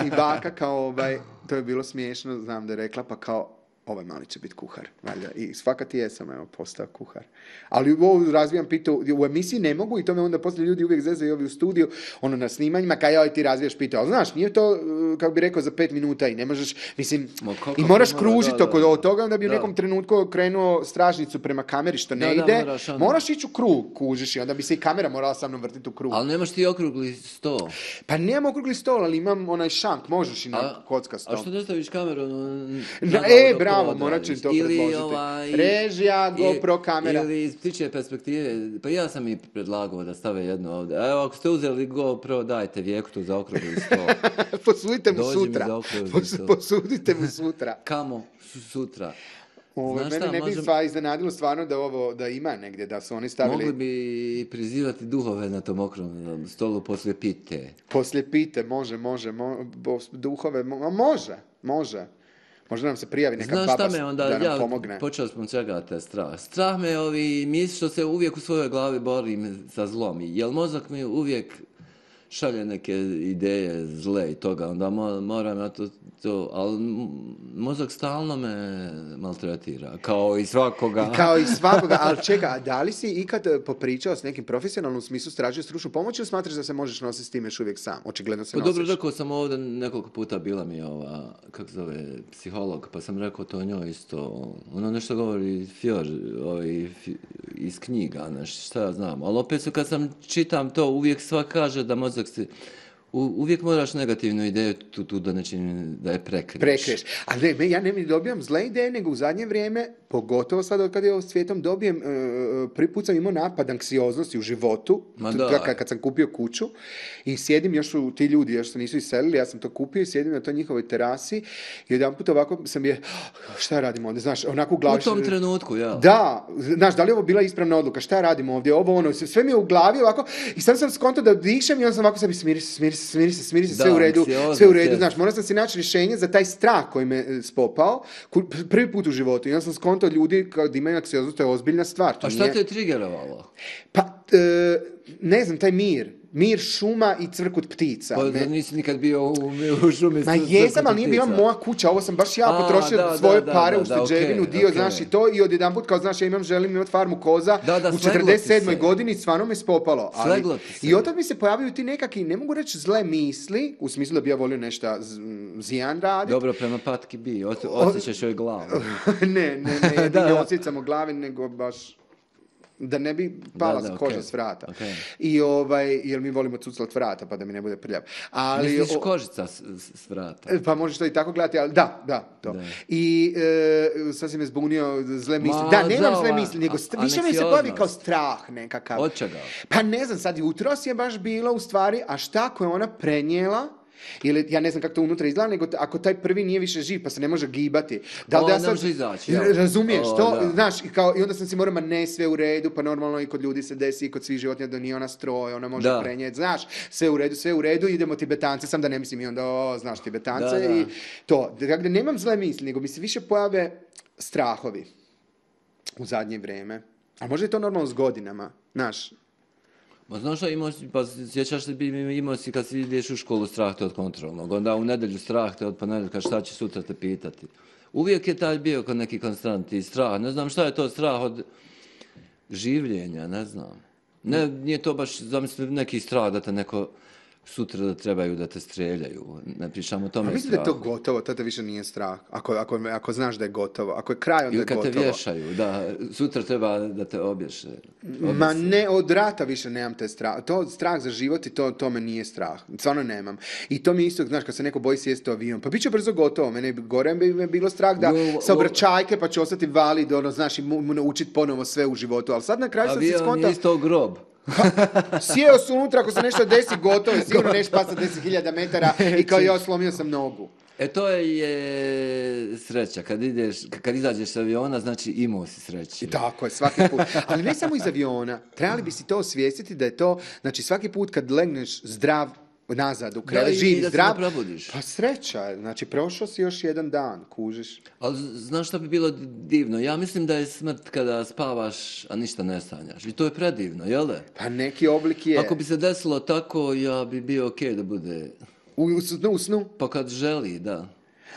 B: I baka kao, ovaj, to je bilo smiješno, znam da je rekla, pa kao, ovaj mali će biti kuhar, valjda. I svakati jesam, evo, postao kuhar. Ali ovo razvijam pitu, u emisiji ne mogu i to me onda poslije ljudi uvijek zezaju ovi u studiju, ono na snimanjima, kaj joj ti razvijaš pitu. Ali znaš, nije to, uh, kako bi rekao, za pet minuta i ne možeš, mislim,
A: Ma kako
B: i moraš
A: mora,
B: kružiti
A: da,
B: oko
A: da.
B: od toga, onda bi u
A: Da.
B: nekom trenutku krenuo stražnicu prema kameri, što ne
A: Da, da,
B: ide.
A: moraš onda.
B: Moraš ići u krug, kužiš, i onda bi se i kamera morala sa mnom vrtiti u krug.
A: Ali nemaš ti okrugli sto.
B: Pa nemam okrugli stol, ali imam onaj šank, možeš i na
A: A,
B: kockastom.
A: a što ne staviš kameru? ono,
B: Na,
A: nadal
B: e,
A: dok
B: bravo,
A: odradiš?
B: morat ću im to
A: Ili
B: predložiti.
A: ovaj-
B: Režija, GoPro kamera.
A: Ili iz ptičje perspektive, pa ja sam i predlagao da stave jedno ovdje. Evo, ako ste uzeli GoPro, dajte Vijeku tu za okrugli sto.
B: Posudite mu
A: Dođi mi
B: sutra.
A: za okrugli
B: Pos-
A: stol.
B: posudite mu sutra.
A: Kamo su sutra.
B: Ovo,
A: Znaš
B: mene
A: šta,
B: ne bi
A: možem-
B: sva iznenadilo stvarno da ovo da ima negdje, da su oni stavili
A: Mogli bi prizivati duhove na tom okruglom stolu poslije pite.
B: poslije pite, može, može, mo, bo- duhove, mo, a može, može. Možda nam se prijavi neka
A: Znaš
B: baba
A: šta me onda,
B: da nam
A: ja
B: pomogne.
A: počeo smo čega te strah. Strah me ovi misli što se uvijek u svojoj glavi borim sa zlom. Jel mozak mi uvijek šalje neke ideje zle i toga, onda mo, moram ja to, to, ali m- mozak stalno me maltretira, kao i svakoga.
B: I kao i svakoga, ali čeka, a da li si ikad e, popričao s nekim profesionalnom smislu, stražio stručnu pomoć ili smatraš da se možeš nositi s tim još uvijek sam? Očigledno se
A: Pa dobro,
B: nosiš.
A: rekao sam ovdje nekoliko puta bila mi ova, kako zove, psiholog, pa sam rekao to njoj isto, ono nešto govori Fjor, ovaj, fi- iz knjiga, nešto, šta ja znam, ali opet su kad sam čitam to, uvijek sva kaže da mozak se, u, uvijek moraš negativnu ideju tu, tu da nečim, da je prekriješ.
B: Prekreš. A ne, me- ja ne mi dobijam zle ideje, nego u zadnje vrijeme pogotovo sad od kad je ovo svijetom dobijem, uh, prvi put sam imao napad anksioznosti u životu,
A: Ma
B: t-
A: da.
B: kad, kad sam kupio kuću i sjedim, još su ti ljudi, još se nisu iselili, ja sam to kupio i sjedim na toj njihovoj terasi i jedan put ovako sam je, šta radimo ovdje, znaš, onako u glavi.
A: U tom trenutku, ja.
B: Da, znaš, da li je ovo bila ispravna odluka, šta radimo ovdje, ovo ono, sve mi je u glavi ovako i sad sam skonto da dišem i onda sam ovako sebi smiri se, smiri se, smiri se, smiri se, sve
A: Da,
B: u redu,
A: anksioznost,
B: sve u redu,
A: jest.
B: znaš, morao sam si naći rješenje za taj strah koji me e, spopao, ku- prvi put u životu i onda sam skonto ljudi kad imaju anksioznost, to je ozbiljna stvar. To
A: A šta
B: nije-
A: te je trigerovalo?
B: Pa, e, ne znam, taj mir, mir šuma i cvrkut ptica.
A: Pa
B: Me-
A: nisi nikad bio u, u šumi.
B: Ma
A: s-
B: jesam,
A: crknuti
B: ali nije bila
A: ptica.
B: moja kuća, ovo sam baš ja
A: A,
B: potrošio
A: da,
B: svoje
A: da, da,
B: pare
A: da,
B: u
A: da,
B: ušteđevinu,
A: okej,
B: dio,
A: okej.
B: znaš, i to, i odjedanput kao, znaš, ja imam, želim imati farmu koza,
A: Da, da,
B: u
A: sleglo ti
B: četrdeset sedmoj
A: se.
B: godini stvarno me spopalo. Ali,
A: Sleglo ti se.
B: i od tad mi se pojavljaju ti nekakvi, ne mogu reći zle misli, u smislu da bi ja volio nešto z- zijan raditi.
A: Dobro, prema patki bi, os- osjećaš joj glavu.
B: ne, ne, ne, ja
A: Da,
B: ne
A: da.
B: osjećam u glavi, nego baš da ne bi pala
A: Da, da,
B: koža
A: okej,
B: s vrata.
A: okej.
B: I ovaj, jer mi volimo cuclat vrata, pa da mi ne bude prljav. Ali,
A: Misliš
B: o-
A: kožica s, s, s vrata?
B: E, Pa možeš to i tako gledati, ali da, da, to.
A: Da.
B: I e, sad si me zbunio zle misli.
A: Ma,
B: Da, nemam
A: da,
B: zle
A: ova-
B: misli, nego
A: a-
B: st- više mi se pojavi kao
A: anksioznost.
B: strah nekakav.
A: Od čega?
B: Pa ne znam, sad jutros je baš bilo u stvari, a šta ako je ona prenijela, ili ja ne znam kako to unutra izgleda, nego t- ako taj prvi nije više živ, pa se ne može gibati. Da li
A: O,
B: da ja
A: ne
B: sad,
A: može izaći, jel?
B: razumiješ
A: O,
B: to,
A: da.
B: znaš, i, kao, i onda sam si morao, ma ne, sve u redu, pa normalno i kod ljudi se desi, i kod svih životinja da nije ona stroj, ona može
A: Da.
B: prenijeti, znaš, sve u redu, sve u redu, idemo Tibetance, sam da ne mislim i onda, o, znaš, Tibetance
A: Da, da.
B: i to. Dakle, nemam zle misli, nego mi se više pojave strahovi u zadnje vrijeme. A možda je to normalno s godinama, znaš.
A: Ma znaš šta, imao, si- pa sjećaš se, bi imao si kad si ideš u školu strah te od kontrolnog, onda u nedjelju strah te od ponedjeljka šta će sutra te pitati. Uvijek je taj bio kod neki konstantni strah, ne znam šta je to strah od življenja, ne znam. Ne, nije to baš, zamisli, neki strah da te neko sutra da trebaju da te streljaju, ne pričamo o tome
B: A mislim da je to
A: strahu.
B: gotovo, to te više nije strah. Ako, ako, ako znaš da je gotovo, ako je kraj, onda
A: Ili
B: je
A: kad te
B: gotovo.
A: vješaju, da, sutra treba da te obješe.
B: Ma ne, od rata više nemam te strah. To strah za život i to, to me nije strah. Stvarno nemam. I to mi isto, znaš, kad se neko boji sjesti u avion, pa bit će brzo gotovo. Mene bi gore bi me bilo strah da
A: Jo,
B: sa
A: o-
B: obraćajke pa ću ostati valid, ono, znaš, i mu, mu naučiti ponovo sve u životu. Ali sad na kraju sam se
A: Avion
B: skontao,
A: je isto grob.
B: sjeo sam unutra, ako se nešto desi, gotovo je, sigurno nešto pasa deset hiljada metara i kao ja slomio sam nogu.
A: E to je sreća, kad ideš, kad izađeš s aviona, znači imao si sreće.
B: I tako je, svaki put. Ali ne samo iz aviona. Trebali bi si to osvijestiti da je to, znači svaki put kad legneš zdrav nazad u
A: Da,
B: krevet,
A: i
B: živ,
A: da se
B: zdrav,
A: ne probudiš.
B: pa sreća je. Znači prošao si još jedan dan, kužiš.
A: Ali znaš šta bi bilo divno? Ja mislim da je smrt kada spavaš, a ništa ne sanjaš. I to je predivno, jel da?
B: Pa neki oblik je.
A: Ako bi se desilo tako, ja bi bio okej da bude.
B: U, u snu, u snu.
A: Pa kad želi, da.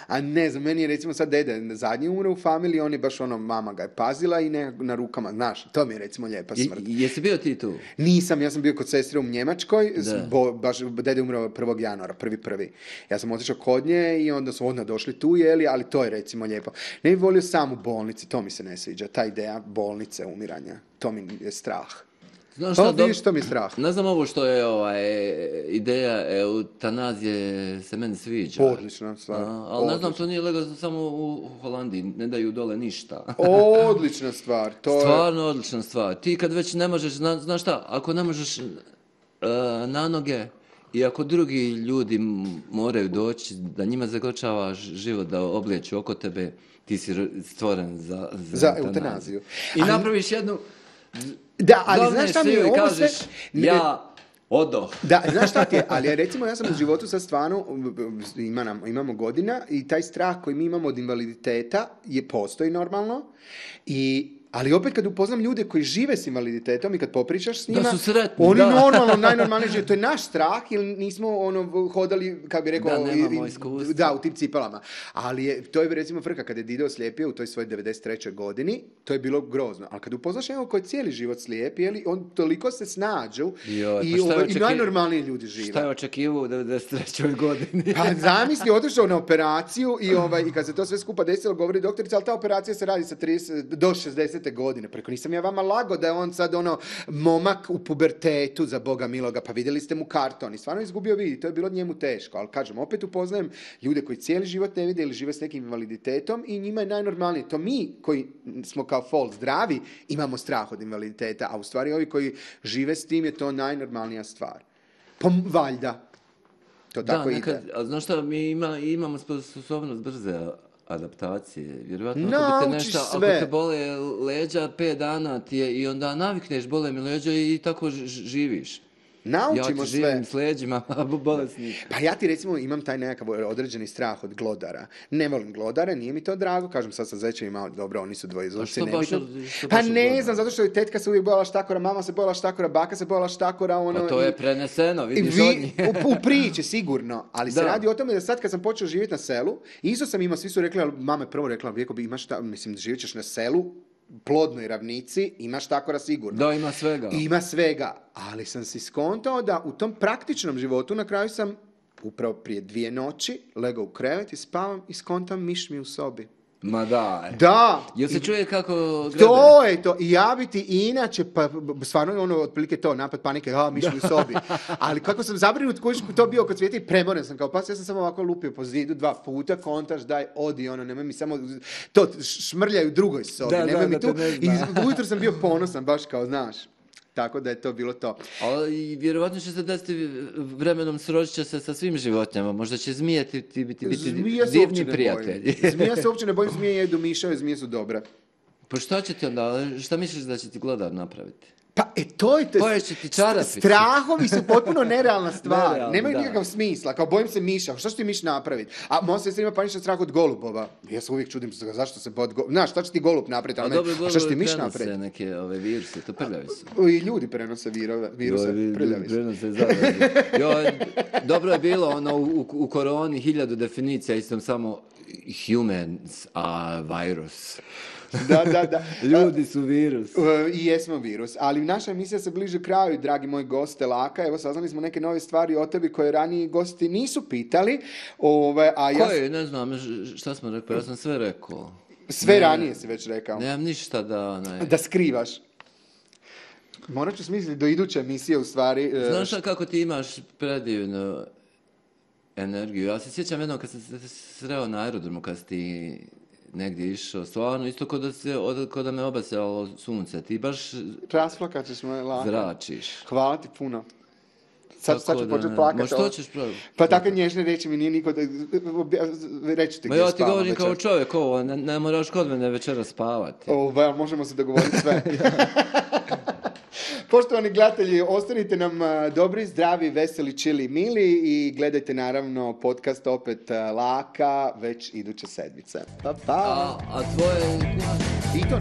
B: A ne znam, meni je recimo sad dede zadnji umre u familiji, on je baš ono, mama ga je pazila i ne, na rukama, znaš, to mi je recimo lijepa
A: I,
B: smrt.
A: jesi bio ti tu?
B: Nisam, ja sam bio kod sestre u Njemačkoj, s-
A: Da.
B: bo, baš dede je umro prvog januara, prvi prvi. Ja sam otišao kod nje i onda su odmah došli tu, jeli, ali to je recimo lijepo. Ne bih volio sam u bolnici, to mi se ne sviđa, ta ideja bolnice, umiranja, to mi je strah.
A: Znaš
B: Pa
A: šta,
B: vidiš,
A: dob-
B: to mi je strah.
A: Ne znam ovo što je ovaj, ideja eutanazije se meni sviđa.
B: Odlična stvar.
A: A, ali ne znam,
B: Odlična.
A: to nije legalno samo u Holandiji, ne daju dole ništa.
B: Odlična stvar, to je...
A: Stvarno odlična stvar. Ti kad već ne možeš, zna, znaš šta, ako ne možeš e, na noge i ako drugi ljudi m- moraju doći, da njima zagočavaš život, da oblijeću oko tebe, ti si r- stvoren za, za,
B: Za eutanaziju.
A: I
B: Ali-
A: napraviš jednu,
B: Da, ali
A: glavne
B: znaš šta mi je,
A: šiju i
B: ovo
A: kažeš,
B: sve...
A: ja odoh.
B: Da, znaš šta ti je, ali ja, recimo ja sam u životu sad stvarno, ima nam, imamo godina i taj strah koji mi imamo od invaliditeta je postoji normalno, i, ali opet kad upoznam ljude koji žive s invaliditetom i kad popričaš s
A: Da
B: njima,
A: su sretni,
B: oni
A: da.
B: normalno, najnormalnije žive, to je naš strah jer nismo ono, hodali, kako bi rekao,
A: Da, nemamo
B: i- i-
A: iskustva.
B: da, u tim cipelama. Ali je, to je recimo frka, kada je Dido slijepio u toj svojoj devedeset trećoj godini, to je bilo grozno. Ali kad upoznaš nekog koji je cijeli život slijep, je li, on toliko se snađu
A: Joj, pa
B: i,
A: šta je
B: ovaj, i
A: očeki-
B: najnormalniji ljudi žive.
A: Šta je očekivao u devedeset trećoj godini?
B: Pa zamisli, otišao na operaciju i, ovaj, i kad se to sve skupa desilo, govori doktorica, ali ta operacija se radi sa trideset do šezdeset desete godine. Preko nisam ja vama lago da je on sad ono momak u pubertetu, za Boga miloga, pa vidjeli ste mu karton i stvarno izgubio vidi, to je bilo njemu teško, ali kažem, opet upoznajem ljude koji cijeli život ne vide ili žive s nekim invaliditetom i njima je najnormalnije. To mi koji smo kao fol zdravi imamo strah od invaliditeta, a u stvari ovi koji žive s tim je to najnormalnija stvar. Pa valjda. To tako
A: da, nekad,
B: ide.
A: A znaš šta, mi ima, imamo sposobnost brze adaptacije. Vjerovatno ako bi te
B: Naučiš
A: nešto,
B: sve.
A: ako te bole leđa, pet dana ti je i onda navikneš, bole mi leđa i tako ž- živiš.
B: Naučimo
A: ja ti
B: sve.
A: živim s leđima, a bolesnik.
B: Pa ja ti recimo imam taj nekakav određeni strah od glodara. Ne volim glodare, nije mi to drago, kažem sad sa zečevima, dobro, oni su dvoizlovci.
A: A što baš
B: nebitno.
A: od- što
B: Pa
A: baš od
B: ne
A: glodara?
B: znam, zato što je tetka se uvijek bojala štakora, mama se bojala štakora, baka se bojala štakora, ono...
A: Pa to
B: i-
A: je preneseno,
B: i
A: vidiš
B: vi-
A: od njih.
B: u, u priči, sigurno, ali se
A: Da.
B: radi o tome da sad kad sam počeo živjeti na selu, isto sam imao, svi su rekli, ali mama je prvo rekla, vijeko bi imaš, ta, mislim, živjet ćeš na selu, plodnoj ravnici, imaš takora sigurno.
A: Da, ima svega.
B: Ima svega, ali sam si skontao da u tom praktičnom životu na kraju sam upravo prije dvije noći legao u krevet i spavam i skontam miš mi u sobi.
A: Ma da.
B: Da!
A: Jel se čuje kako grebe?
B: To je to. I ja bi ti inače, pa b- stvarno je ono otprilike to, napad panike, a miš mi u sobi. Ali kako sam zabrinut koji je to bio kod svijeta i premoren sam kao pas, ja sam samo ovako lupio po zidu dva puta, kontaš, daj, odi, ono, nemoj mi samo, to šmrljaju u drugoj sobi,
A: Da,
B: nemoj
A: da,
B: mi
A: da
B: tu.
A: te ne
B: I
A: zna.
B: ujutro sam bio ponosan, baš kao, znaš. Tako da je to bilo to.
A: Ali vjerovatno će se desiti vremenom sročit će se sa svim životinjama. Možda će zmije ti, ti biti, biti
B: Zmija se uopće
A: divni
B: ne
A: prijatelji.
B: bojim. Zmija se uopće ne bojim, zmije jedu miševe, zmije su dobre.
A: Pa šta će ti onda, šta misliš da će ti glodar napraviti?
B: Pa, e, to je to.
A: Poješće ti čarapicu.
B: Strahovi su potpuno nerealna stvar.
A: Nerealni,
B: Nemaju
A: da.
B: nikakav smisla. Kao, bojim se miša. Šta će ti miš napraviti? A moja sestra ima paničan strah od golubova. Ja se uvijek čudim zašto se bod golub... Znaš, šta će ti golub napraviti?
A: A
B: A,
A: dobro,
B: a šta će ti
A: golubovi
B: miš
A: prenose
B: napraviti?
A: neke ove viruse, to prljavi su.
B: I ljudi prenose virove, viruse,
A: Joj, vi-
B: prljavi su.
A: prenose zaraze. Joj, dobro je bilo ono u, u, u koroni hiljadu definicija, istom samo humans a virus.
B: Da, da, da.
A: Ljudi su virus.
B: Uh, I jesmo virus, ali naša emisija se bliže kraju, dragi moj goste Laka. Evo, saznali smo neke nove stvari o tebi koje raniji gosti nisu pitali. Ove, a ja
A: Koje, ne znam, ž- šta smo rekli, ja sam sve rekao.
B: sve
A: Ne,
B: ranije si već rekao.
A: Nemam ništa da... Ne.
B: Da skrivaš. Morat ću smisliti do iduće emisije u stvari. e,
A: Znaš šta, kako ti imaš predivnu energiju? Ja se sjećam jednom kad sam se sreo na aerodromu, kad si ti negdje išao, stvarno isto kod da, se, od, kod da me obasjalo sunce, ti baš
B: Rasplakat ćeš me, Laka.
A: zračiš.
B: Hvala ti puno. Sad, sad
A: Tako
B: ću
A: da
B: početi
A: ne-
B: plakati.
A: Ma što ćeš praviti?
B: Pa takve nježne reći mi nije niko da... Reći ti
A: Ma
B: gdje
A: ja ti
B: spavam
A: govorim kao
B: večeras.
A: čovjek ovo, ne, ne moraš kod mene večera spavati.
B: Ovaj, možemo se dogovoriti sve. Poštovani gledatelji, ostanite nam a, dobri, zdravi, veseli, čili, mili i gledajte naravno podcast opet a, Laka već iduće sedmice. Pa, pa.
A: A, a tvoje...
B: I to